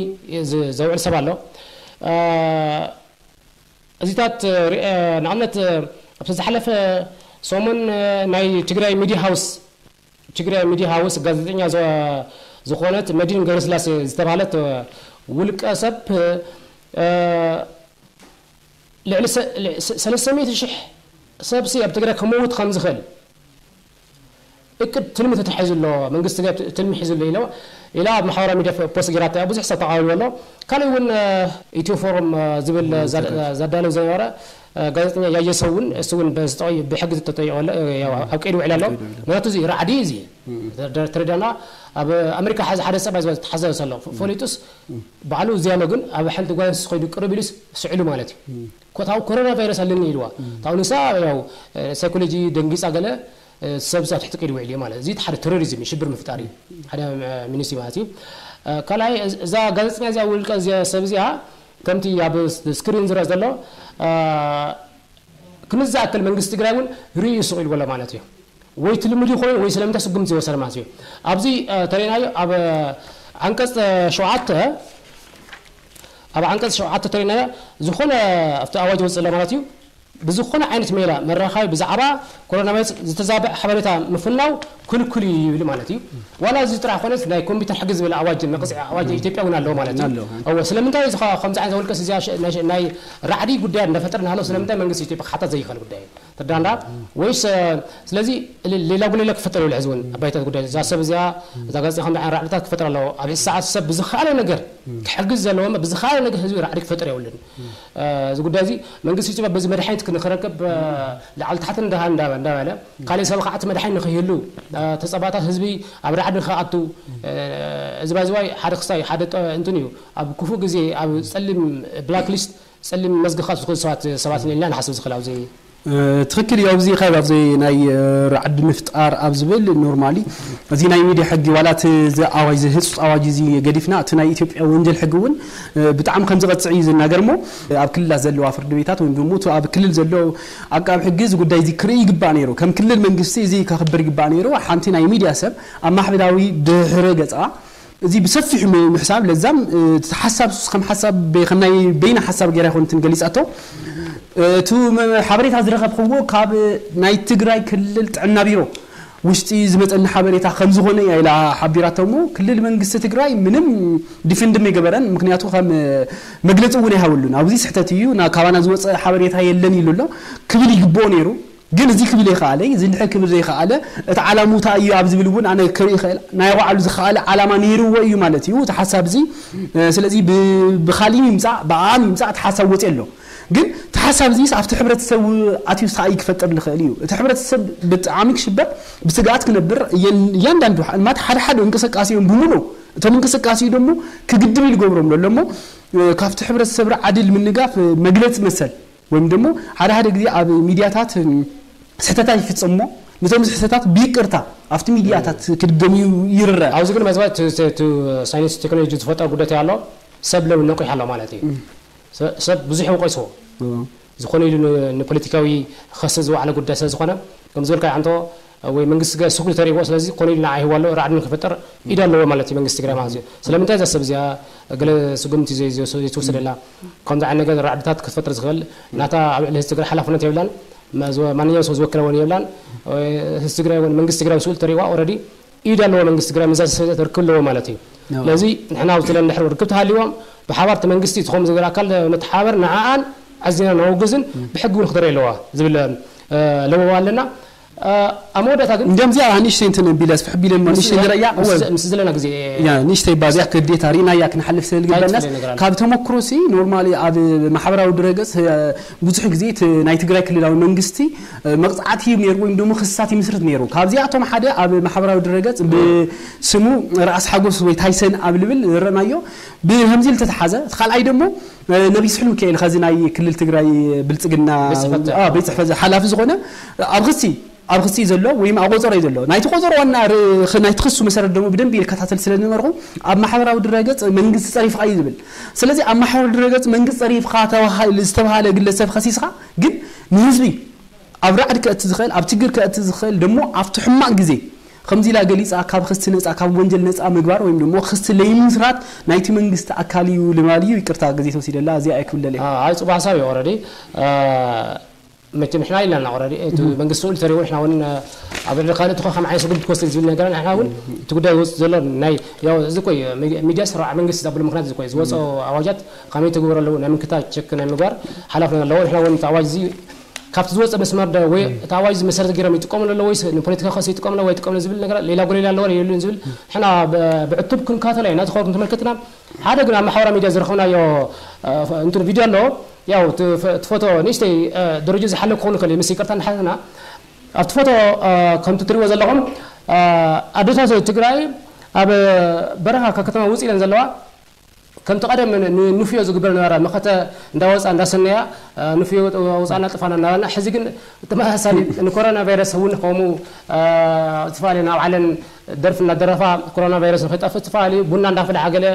ዘውዕል ሰብ ኣሎ እዚታት ንኣብነት ኣብቲ ዝሓለፈ ሰሙን ናይ ትግራይ ሚድያ ሃውስ ትግራይ ሚድያ ሃውስ ጋዜጠኛ ዝኾነት መዲን ገብረስላሴ ዝተባህለት ውልቀ ሰብ ልዕሊ ሰለስተ ሚእቲ ሽሕ ሰብሲ ኣብ ትግራይ ክመውት ከም ዝኽእል እቅድ ትልሚ ተታሒዙ ኣሎ መንግስቲ ትልሚ ሒዙ ኣሎ ኢሎ ኢላ ኣብ ማሕበራዊ ሚድያ ፖስት ጌራታ ብዙሕ ሰብ ተቃዊሉ ኣሎ ካልእ እውን ኢትዮ ፎረም ዝብል ዘዳለው ዝነበረ ጋዜጠኛ ያየ ሰው እውን እሱ እውን ብሕጊ ተጠይቆ ኣሎ ኣብ ቀይዲ ውዕል ኣሎ ምክንያቱ እዚ ራዕዲ እዚ ተረዳና ኣብ ኣሜሪካ ሓደ ሓደ ሰብኣይ ዝተሓዘ ዘሎ ፈሊጡስ ባዕሉ እዚኣ ኣሎ፣ ግን ኣብ ሓንቲ ጓንስ ኸይዱ ቅርብ ኢሉስ ስዕሉ ማለት እዩ። ኮታው ኮሮና ቫይረስ ኣለኒ ኢልዋ። ታው ንሳ ያው ሳይኮሎጂ ደንጊጻ ገለ ሰብ ዛ ትሕቲ ቀይዲ ውዒሉ ማለት እዚ ሓደ ቴሮሪዝም ሽብር ምፍጣር እዩ። ሓደ ሚኒሲ ማለት እዩ። ካልኣይ እዛ ጋዜጠኛ እዚኣ ውልቀ እዚኣ ሰብ እዚኣ ከምቲ ኣብ ስክሪን ዝረአ ዘሎ ክንዝኣክል መንግስቲ ትግራይ እውን ርእዩ ስቕ ኢልዎ ኣሎ ማለት እዩ። ወይ ትልምድ ይኾይን ወይ ስለምንታይ ስጉምቲ ዝወሰደ ማለት እዩ። ኣብዚ ተሪናዮ ኣብ ዓንቀፅ ሸውዓተ ኣብ ዓንቀፅ ሸውዓተ ተሪናዮ ዝኾነ ኣብቲ ኣዋጅ ወፅእ ኣሎ ማለት እዩ። ብዝኾነ ዓይነት ሜላ መራኻቢ ብዛዕባ ኮሮና ቫይረስ ዝተዛብዐ ሓበሬታ ምፍናው ክልኩል እዩ ይብል ማለት እዩ። ዋላ እዚ ጥራሕ ኮነስ ናይ ኮምፒውተር ሕጊ ዝብል ኣዋጅ መቕፅዒ ኣዋጅ ኢትዮጵያ እውን ኣለዎ ማለት እዩ። ኣለዎ። እወ ስለምንታይ እዚ ከምዚ ዓይነት ውልቀስ እዚኣ ናይ ራዕዲ ጉዳያት እንዳፈጠረ እናሃለወ ስለምንታይ መንግስቲ ኢትዮጵያ ክሓታት ዘይኽእል ጉዳይ እዩ? ትርዳንዳ ወይስ ስለዚ ሌላ ጉሌላ ክፈጠር ይብል ሕዚ እውን ኣባይታት ጉዳይ እዛ ሰብ እዚኣ እዛ ጋዜጣ ከም ራዕድታት ክፈጠር ኣለዎ። ኣብ ሰዓት ሰብ ብዝኸኣለ ነገር ክሕግዝ ዘለዎ ብዝኸኣለ ነገር ህዝቢ ራዕዲ ክፈጠር የብሉን። እዚ ጉዳይ እዚ መንግስቲ ኢትዮጵያ በዚ መድሓኒት ክንክረከብ ላዕሊ ታሕቲ እንዳሃ እንዳበለ ካልእ ሰብ ከዓቲ መድሓኒ ንክህሉ ተፀባታት ህዝቢ ኣብ ራዕዲ ንክኣቱ እዚ ባይዝዋይ ሓደ ክስታይ ሓደ እንትን እዩ። ኣብ ክፉእ ግዜ ኣብ ፀሊም ብላክ ሊስት ፀሊም መዝገብ ካብ ዝኽእሉ ሰባት ሰባት ኢና ኢልና ንሓስብ ዝኽእል ኣብዚ ትኽክል እዩ። ኣብዚ ካብ ኣብዚ ናይ ራዕዲ ምፍጣር ኣብ ዝብል ኖርማሊ እዚ ናይ ሚድያ ሕጊ ዋላ እቲ ኣዋጅ እዚ ህፁፅ ኣዋጅ እዚ ገዲፍና እቲ ናይ ኢትዮጵያ ወንጀል ሕጊ እውን ብጣዕሚ ከም ዝቐፅዕ እዩ ዝናገር እሞ ኣብ ክልላት ዘለዋ ፍርዲ ቤታት ወይም ደግሞ እቲ ኣብ ክልል ዘሎ ኣቃብ ሕጊ እዚ ጉዳይ እዚ ክርኢ ይግባእ ነይሩ። ከም ክልል መንግስቲ እዚ ከኽብር ይግባእ ነይሩ። ሓንቲ ናይ ሚድያ ሰብ ኣብ ማሕበራዊ ድሕረ ገፃ እዚ ብሰፊሑ ምሕሳብ ለዛም እቲ ሓሳብ ሱስ ከም ሓሳብ ከም ናይ በይና ሓሳብ ገይራ ይኮንትን ገሊፃቶ። እቲ ሓበሬታ ዝረከብክዎ ካብ ናይ ትግራይ ክልል ጥዕና ቢሮ ውሽጢ ዝመፀኒ ሓበሬታ ከም ዝኾነ እያ ኢላ ሓቢራቶ እሞ ክልል መንግስቲ ትግራይ ምንም ዲፍንድም የገበረን። ምክንያቱ ከም መግለፂ እውን ኣይሃበሉን። ኣብዚ ስሕተት እዩ ካባና ዝወፀ ሓበሬታ የለን ኢሉ ኣሎ ክብል ይግብኦ ነይሩ። ግን እዚ ክብል ይኸኣለ ዝንሐ ክብል ዘይኸኣለ እቲ ዓላሙታ እዩ ኣብ ዝብል እውን ኣነ ክርኢ ይኽእል ናይ ባዕሉ ዝኸኣለ ዓላማ ነይርዎ እዩ ማለት እዩ እቲ ሓሳብ እዚ። ስለዚ ብኻሊእ ይምፃእ ብኣኣም ይምፃእ እቲ ሓሳብ ወፂ ኣሎ። ግን እቲ ሓሳብ እዚ ኣብቲ ሕብረተሰብ ኣትዩ ስኣይ ክፈጥር ዝኽእል እዩ። እቲ ሕብረተሰብ ብጣዕሚ ክሽበር ብስግኣት ክነብር እያንዳንዱ ማት ሓደ ሓደ እንቅስቃሴ እዮም ብምሉ እቶም እንቅስቃሴ ደሞ ክግድም ኢሉ ገብሮም ኣሎ እሞ ካብቲ ሕብረተሰብ ራዕዲ ንምንጋፍ መግለፂ መሰል ወይም ደሞ ሓደ ሓደ ግዜ ኣብ ሚድያታት ስሕተታት ይፍፀም እሞ ነቶም ስሕተታት ብይቅርታ ኣብቲ ሚድያታት ክድገም እዩ ይርረ። ኣብዚ ግን መዝባ ሳይንስ ቴክኖሎጂ ዝፈጠረ ጉዳት ኣሎ ሰብ ለው ነቂሕ ኣሎ ማለት እዩ። ሰብ ብዙሕ ወቀስዎ ዝኾነ ኢሉ ንፖለቲካዊ ክኸሰ ዝወዓለ ጉዳይ ስለ ዝኾነ ከም ዝበልካ ሓንቶ ወይ መንግስቲ ገ ስጉል ተሪእዎ ስለዚ ኮነ ኢሉ ንዓ ይህዋ ኣሎ ራዕዲ ንክፈጠር ኢድ ኣለዎ ማለት እዩ መንግስቲ ትግራይ ማለት እዩ። ስለምንታይ እዛ ሰብ እዚኣ ገለ ስጉምቲ ዘይተወሰደላ ከምዚ ዓይነት ነገር ራዕድታት ክትፈጥር ዝኽእል ናታ ኣብ ልዕሊ ህዝቢ ትግራይ ሓላፍነት የብላን። ማንኛውም ሰው ዝወከለ እውን የብላን። ህዝቢ ትግራይ እውን መንግስቲ ትግራይ ስኡል ተሪዋ ኦረዲ ኢድ ኣለዎ መንግስቲ ትግራይ ምዛ ሰበ ርክብ ኣለዎ ማለት እዩ። ስለዚ ንሕና ኣብ ትለን ድሕሪ ርክብ ተሃልዎም ብሓባር እቲ መንግስቲ ትኾም ዝብል ኣካል ነተሓባበር ንዓኣን ኣዚና ነወግዝን ብሕጊ እውን ክትርኢ ኣለዋ ዝብል ለበዋ ኣለና። ኣብ መወዳእታ ግን እንደምዚ ኣብ ንእሽተይ እንትን ቢለ ስፍሕ ቢለ እሞ ንእሽተይ ንረያ እወ። ምስ ዘለና ግዜ ያ ንእሽተይ ባዚያ ክዴታ ሪናያ ክንሓልፍ ስለ እንታይ ዝግበናስ ትፈልጥ ነገር ኣሎ? ካብ ተመክሮ ሲ ኖርማሊ ኣብ ማሕበራዊ ድረገጽ ብዙሕ ግዜ እቲ ናይ ትግራይ ክልላዊ መንግስቲ መቕፃዕቲ ነይሩ ወይም ደሞ ክስታት ይምስርት ነይሩ። ካብዚኣቶም ሓደ ኣብ ማሕበራዊ ድረገፅ ብስሙ ራእስ ሓጎስ ወይ ታይሰን ኣብ ልብል ዝረናዮ ብከምዚ ዝተተሓዘ እቲ ካልኣይ ደሞ ነቢይ ስሑል ሚካኤል ከዚ ናይ ክልል ትግራይ ብልፅግና ቤት ፅሕፈት ሓላፊ ዝኾነ ኣብ ክሲ ኣብ ክሲ ዘሎ ወይም ኣብ ቆፀሮ እዩ ዘሎ ናይቲ ቆፀሮ ዋና ናይቲ ክሱ መሰረት ደሞ ብደንብ ይከታተል ስለ ዝነበርኩ ኣብ ማሕበራዊ ድረገፅ መንግስቲ ፀሪፍካ እዩ ዝብል። ስለዚ ኣብ ማሕበራዊ ድረገፅ መንግስቲ ፀሪፍካ ዝተባሃለ ግለሰብ ከሲስካ ግን ንህዝቢ ኣብ ራዕዲ ከእቲ ዝኽእል ኣብ ችግር ከእቲ ዝኽእል ደሞ ኣብቲ ሕማቕ ግዜ ከምዚ ኢላ ገሊፃ ካብ ክስቲ ነፃ ካብ ወንጀል ነፃ ምግባር ወይም ደሞ ክስቲ ለይምስራት ናይቲ መንግስቲ ኣካል እዩ ልማል እዩ። ይቅርታ ግዜ ተወሲደላ እዚኣ ኣይክብለል እየ። ኣይ ፅቡቅ ሓሳብ እዩ። ኦረዲ መቸም ንሕና ኢልና ኦረዲ እቲ መንግስቲ ስኡል ተሪዎ ንሕና እውን ኣብ ልዕሊ ካልእ ትኾ ከም ዓይነት ስጉምቲ ክወስድ ዝብል ነገር ንሕና እውን እቲ ጉዳይ ዝወፅእ ዘሎ ናይ ያው እዚ ኮይ ሚድያ ስራዕ መንግስቲ ዘብሉ ምክንያት እዚ ኮይ ዝወፀ ኣዋጃት ከመይ ትግበር ኣለዎ ናይ ምክታ ቸክ ናይ ምግባር ሓላፍነት ኣለዎ። ንሕና እውን እቲ ኣዋጅ እዚ ካብቲ ዝወፀ መስመር ዶ ወይ እቲ ኣዋጅ እዚ መሰረት ገይሮም ይጥቀሙሉ ኣለዎ ወይስ ንፖለቲካ ክሲ ይጥቀሙሉ ወይ ይጥቀሙሉ ዝብል ነገር ሌላ ጎሌላ ኣለዎ የሉን ዝብል ንሕና ብዕቱብ ክንከታተሎ ኢና። ነቲ ኸርኩም ተመልከትና ሓደ ግን ኣብ ማሕበራዊ ሚድያ ዝረኸብናዮ እንትን ቪድዮ ኣሎ። ያው እቲ ፎቶ ንእሽተይ ደረጃ ዝሓለ ክኾኑ ከለ ምስ ይቅርታ ንሓትና ኣብቲ ፎቶ ከምቲ ትሪዎ ዘለኹም ኣዶታት ትግራይ ኣብ በረኻ ካብ ከተማ ውፅእ ኢለን ዘለዋ ከምቲ ቀደም ን- ንፍዮ ዝግበር ነበረ፣ መኸተ እንዳወፃ እንዳሰነያ፣ እ፣ ንፍዮ ወፃና ጥፋና እናበልና፣ ሕዚ ግን ተመሳሳሊ ንኮሮና ቫይረስ እውን ከምኡ፣ እ፣ ዝተፈላለዩ ናብ ዓለም ደርፊ እናደረፋ፣ ኮሮና ቫይረስ ንክጠፍእ ዝተፈላለዩ ቡና እንዳፈላሓ ገለ፣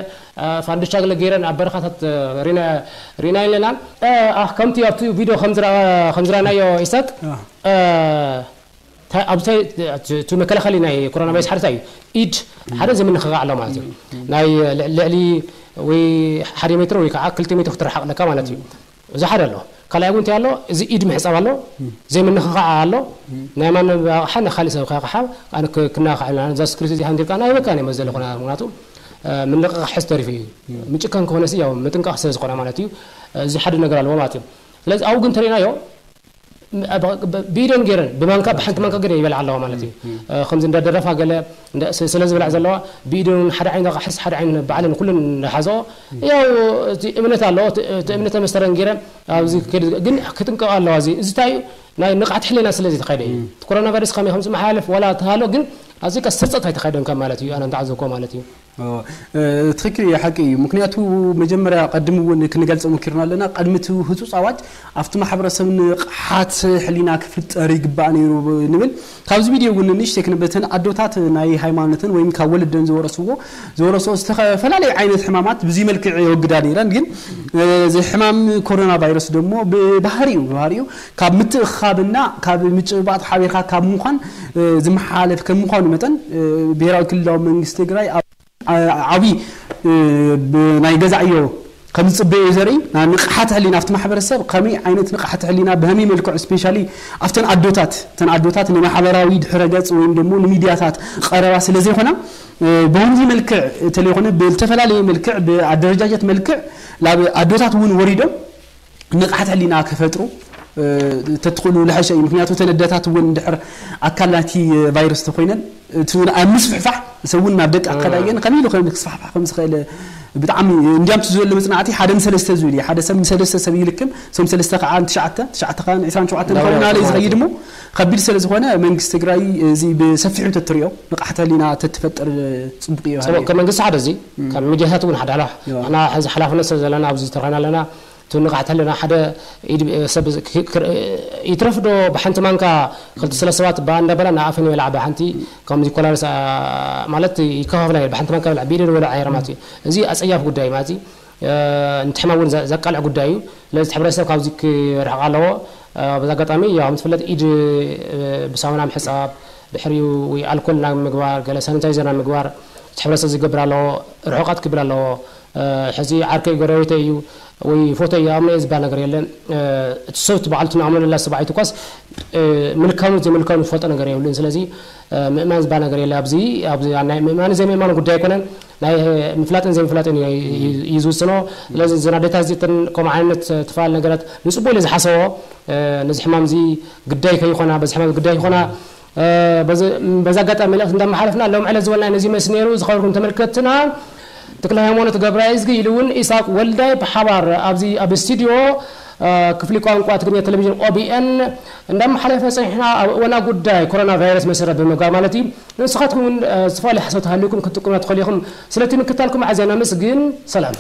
እ፣ ፋንዱቻ ገለ ገይረን ኣብ በረኻታት፣ እ፣ ሪና ሪና ኣለና። እ፣ ኣኽ ከምቲ ኣብቲ ቪድዮ ከምዝረኣናዮ ኢሳቅ፣ እ፣ ታ- ኣብ ታይ- እቲ መከላኸሊ ናይ ኮሮና ቫይረስ ሓደ እንታይ እዩ? ኢድ ሓደ ዘይምንኽኻዕ ኣሎ ማለት እዩ። ናይ ልዕ- ልዕሊ ወይ ሓደ ሜትር ወይ ከዓ ክልተ ሜትር ክትረሓቕ ኣለካ ማለት እዩ። እዚ ሓደ ኣሎ። ካልኣይ እውን እንታይ ኣሎ? እዚ ኢድ ምሕፃብ ኣሎ፣ ዘይምንኽኻዕ ኣሎ። ናይ ማንም ኣቕሓ ንካሊእ ሰብ ከቕሓ ኣነ ክ- ክናኻዕ ኢልና እዛ ስክሪት እዚኣ እንዲልካ ናይ በቃ ናይ መዘለ ኮና ምክንያቱ ምንቕቓሕ ሕዚ ተሪፉ እዩ። ምጭካን ከሆነ ሲ ያው ምጥንቃቕ ስለ ዝኾነ ማለት እዩ። እዚ ሓደ ነገር ኣለዎ ማለት እዩ። ስለዚ ኣብኡ ግን ተሪናዮ ብኢደን ገይረን ብማንካ ብሓንቲ ማንካ ገለ ይበልዓ ኣለዋ ማለት እዩ። ከምዚ እንዳደረፋ ገለ እንዳ- ስ- ስለ ዝብላዕ ዘለዋ ብኢደን ሓደ ዓይን ሕስ ሓደ ዓይን ባዕለን ኩለን እንዳሓዘኦ ያው እቲ እምነት ኣለዎ እቲ እቲ እምነት መስተረን ገይረን ኣብዚ ከይድ ግን ክጥንቀቕ ኣለዋ እዚ እዚ እንታይ እዩ ናይ ንቕሓት ሕሊና ስለ ዝተኸደ እዩ እቲ ኮሮና ቫይረስ ከመይ ከም ዝመሓላለፍ ዋላ ተሃሎ ግን ኣብዚ ቀስ ስርፀት ኣይተኸደን ከም ማለት እዩ ኣነ እንተዓዘብኮ ማለት እዩ ትኽክል እዩ ሓቂ እዩ ምክንያቱ መጀመርያ ቀድም እውን ክንገልፀ ሞኪርና ኣለና ቀድሚ እቲ ህፁፅ ኣዋጅ ኣብቲ ማሕበረሰብ ንቕሓት ሕሊና ክፍጠር ይግባእ ነይሩ ንብል ካብዚ ቪድዮ እውን ንእሽተይ ክንብል እተን ኣዶታት ናይ ሃይማኖተን ወይም ካብ ወለደን ዝወረስዎ ዝወረስኦ ዝተፈላለየ ዓይነት ሕማማት ብዚ መልክዕ የወግዳ ነይረን ግን እዚ ሕማም ኮሮና ቫይረስ ደግሞ ብባህሪኡ ብባህሪኡ ካብ ምትእኻብና ካብ ምጭባጥ ሓቢርካ ካብ ምዃን ዝመሓላለፍ ከም ምዃኑ መጠን ብሄራዊ ክልላዊ መንግስቲ ትግራይ ዓብዪ ናይ ገዛ ዕዮ ከም ዝፅበዮ እዩ ዘርኢ ንቕሓት ሕሊና ኣብቲ ማሕበረሰብ ከመይ ዓይነት ንቕሓት ሕሊና ብሀመይ መልክዑ ስፔሻሊ ኣብተን ኣዶታት እተን ኣዶታት ንማሕበራዊ ድሕረ ገፅ ወይም ደግሞ ንሚድያታት ቀረባ ስለ ዘይኮና ብወንዚ መልክዕ እንተለይኮነ ብዝተፈላለየ መልክዕ ብኣደረጃጀት መልክዕ ናብ ኣዶታት እውን ወሪዶም ንቕሓት ሕሊና ክፈጥሩ ተትኽእሉ ልሐሸ እዩ ምክንያቱ ተን ኣደታት እውን እንድሕር ኣካል ናይቲ ቫይረስ ተኮይነን እቲ ኣብ ምስፍሕፋሕ ሰውን ናብ ደቂ ኣካል ኣየን ከመይ ኢሉ ክስፋሕፋሕ ከም ዝኽእል ብጣዕሚ እንዲያም እቲ ዘሎ መፅናዕቲ ሓደ ንሰለስተ ዝብል እዩ ሓደ ሰብ ንሰለስተ ሰብ ይልክም እቶም ሰለስተ ከዓ ንትሽዓተ ትሽዓተ ከዓ ንዕስራን ሸውዓተን ዝኸውን ናበይ ናበይ ዝኸይድ እሞ ከቢድ ስለ ዝኾነ መንግስቲ ትግራይ እዚ ብሰፊሑ ተትሪኦ ንቕሓት ሕሊና ተትፈጥር ፅቡቅ እዩ ሰቦ ከም መንግስቲ ሓደ እዚ ካብ ሚድያታት እውን ሓደ ሓላ ንሕና ሕዚ ሓላፍነት ስለ ዘለና ኣብዚ ተረኺና ኣለና ትንቓሕ ተለና ሓደ ኢድ ሰብ ይትረፍ ዶ ብሓንቲ ማንካ ክልተ ስለ ሰባት ብኣ እንዳበላ ንኣፈን ይበልዓ ብሓንቲ ከምዚ ኮላርስ ማለት ይከፋፍላ ብሓንቲ ማንካ በልዓ ብኢደ ዝበልዓ የረ ማለት እዩ እዚ ኣፀያፍ ጉዳይ ማለት እዩ ንትሕማም እውን ዘቃልዕ ጉዳይ እዩ ስለዚ ሕብረተሰብ ካብዚ ክርሕቕ ኣለዎ በዚ ኣጋጣሚ ያው ከም ትፍለጥ ኢድ ብሳሙና ምሕፃብ ድሕሪኡ ወይ ኣልኮል ናብ ምግባር ገለ ሳኒታይዘር ናብ ምግባር እቲ ሕብረተሰብ ዝገብር ኣለዎ ርሑቃት ክብል ኣለዎ ሕዚ ዓርከይ ጎረቤተይ እዩ ወይ ፎቶ እዩ ኣምኖ ዝበሃል ነገር የለን እቲ ሰብ እቲ በዓልቱ ንኣምኖ ለላ ሰብኣይቱ ኳስ ምልካኑ ዘይምልካኑ ዝፈልጦ ነገር የብሉን ስለዚ ምእማን ዝበሃል ነገር የለ ኣብዚ ኣብዚ ናይ ምእማን ዘይምእማን ጉዳይ ኣይኮነን ናይ ምፍላጥን ዘይምፍላጥን እዩ ዝውስኖ ስለዚ እዘን ኣዴታት እዚእተን ከምኡ ዓይነት ትፋል ነገራት ንፅቡቅ ኢለ ዝሓሰቦ ነዚ ሕማም እዚ ግዳይ ከይኮና በዚ ሕማም ግዳይ ይኮና በዚ ኣጋጣሚ መልእክቲ እንዳመሓለፍና ሎም ዕለት ዝበልና ነዚ መስ ነይሩ ዝኸበርኩም ተመልከትና ተክለ ሃይማኖት ገብረእዝጊ ኢሉ እውን ኢሳቅ ወልዳይ ብሓባር ኣብዚ ኣብ ስቱዲዮ ክፍሊ ቋንቋ ትግርኛ ቴሌቪዥን ኦቢኤን እንዳመሓለፈ ፀኒሕና ኣብ እዋና ጉዳይ ኮሮና ቫይረስ መሰረት ብምግባር ማለት እዩ ንስኻትኩም እውን ዝተፈላለዩ ሓሳብ ተሃልዩኩም ክትጥቁምና ትኽእሉ ኢኹም ስለቲ ምክታልኩም ኣዝያ ነመስግን ሰላም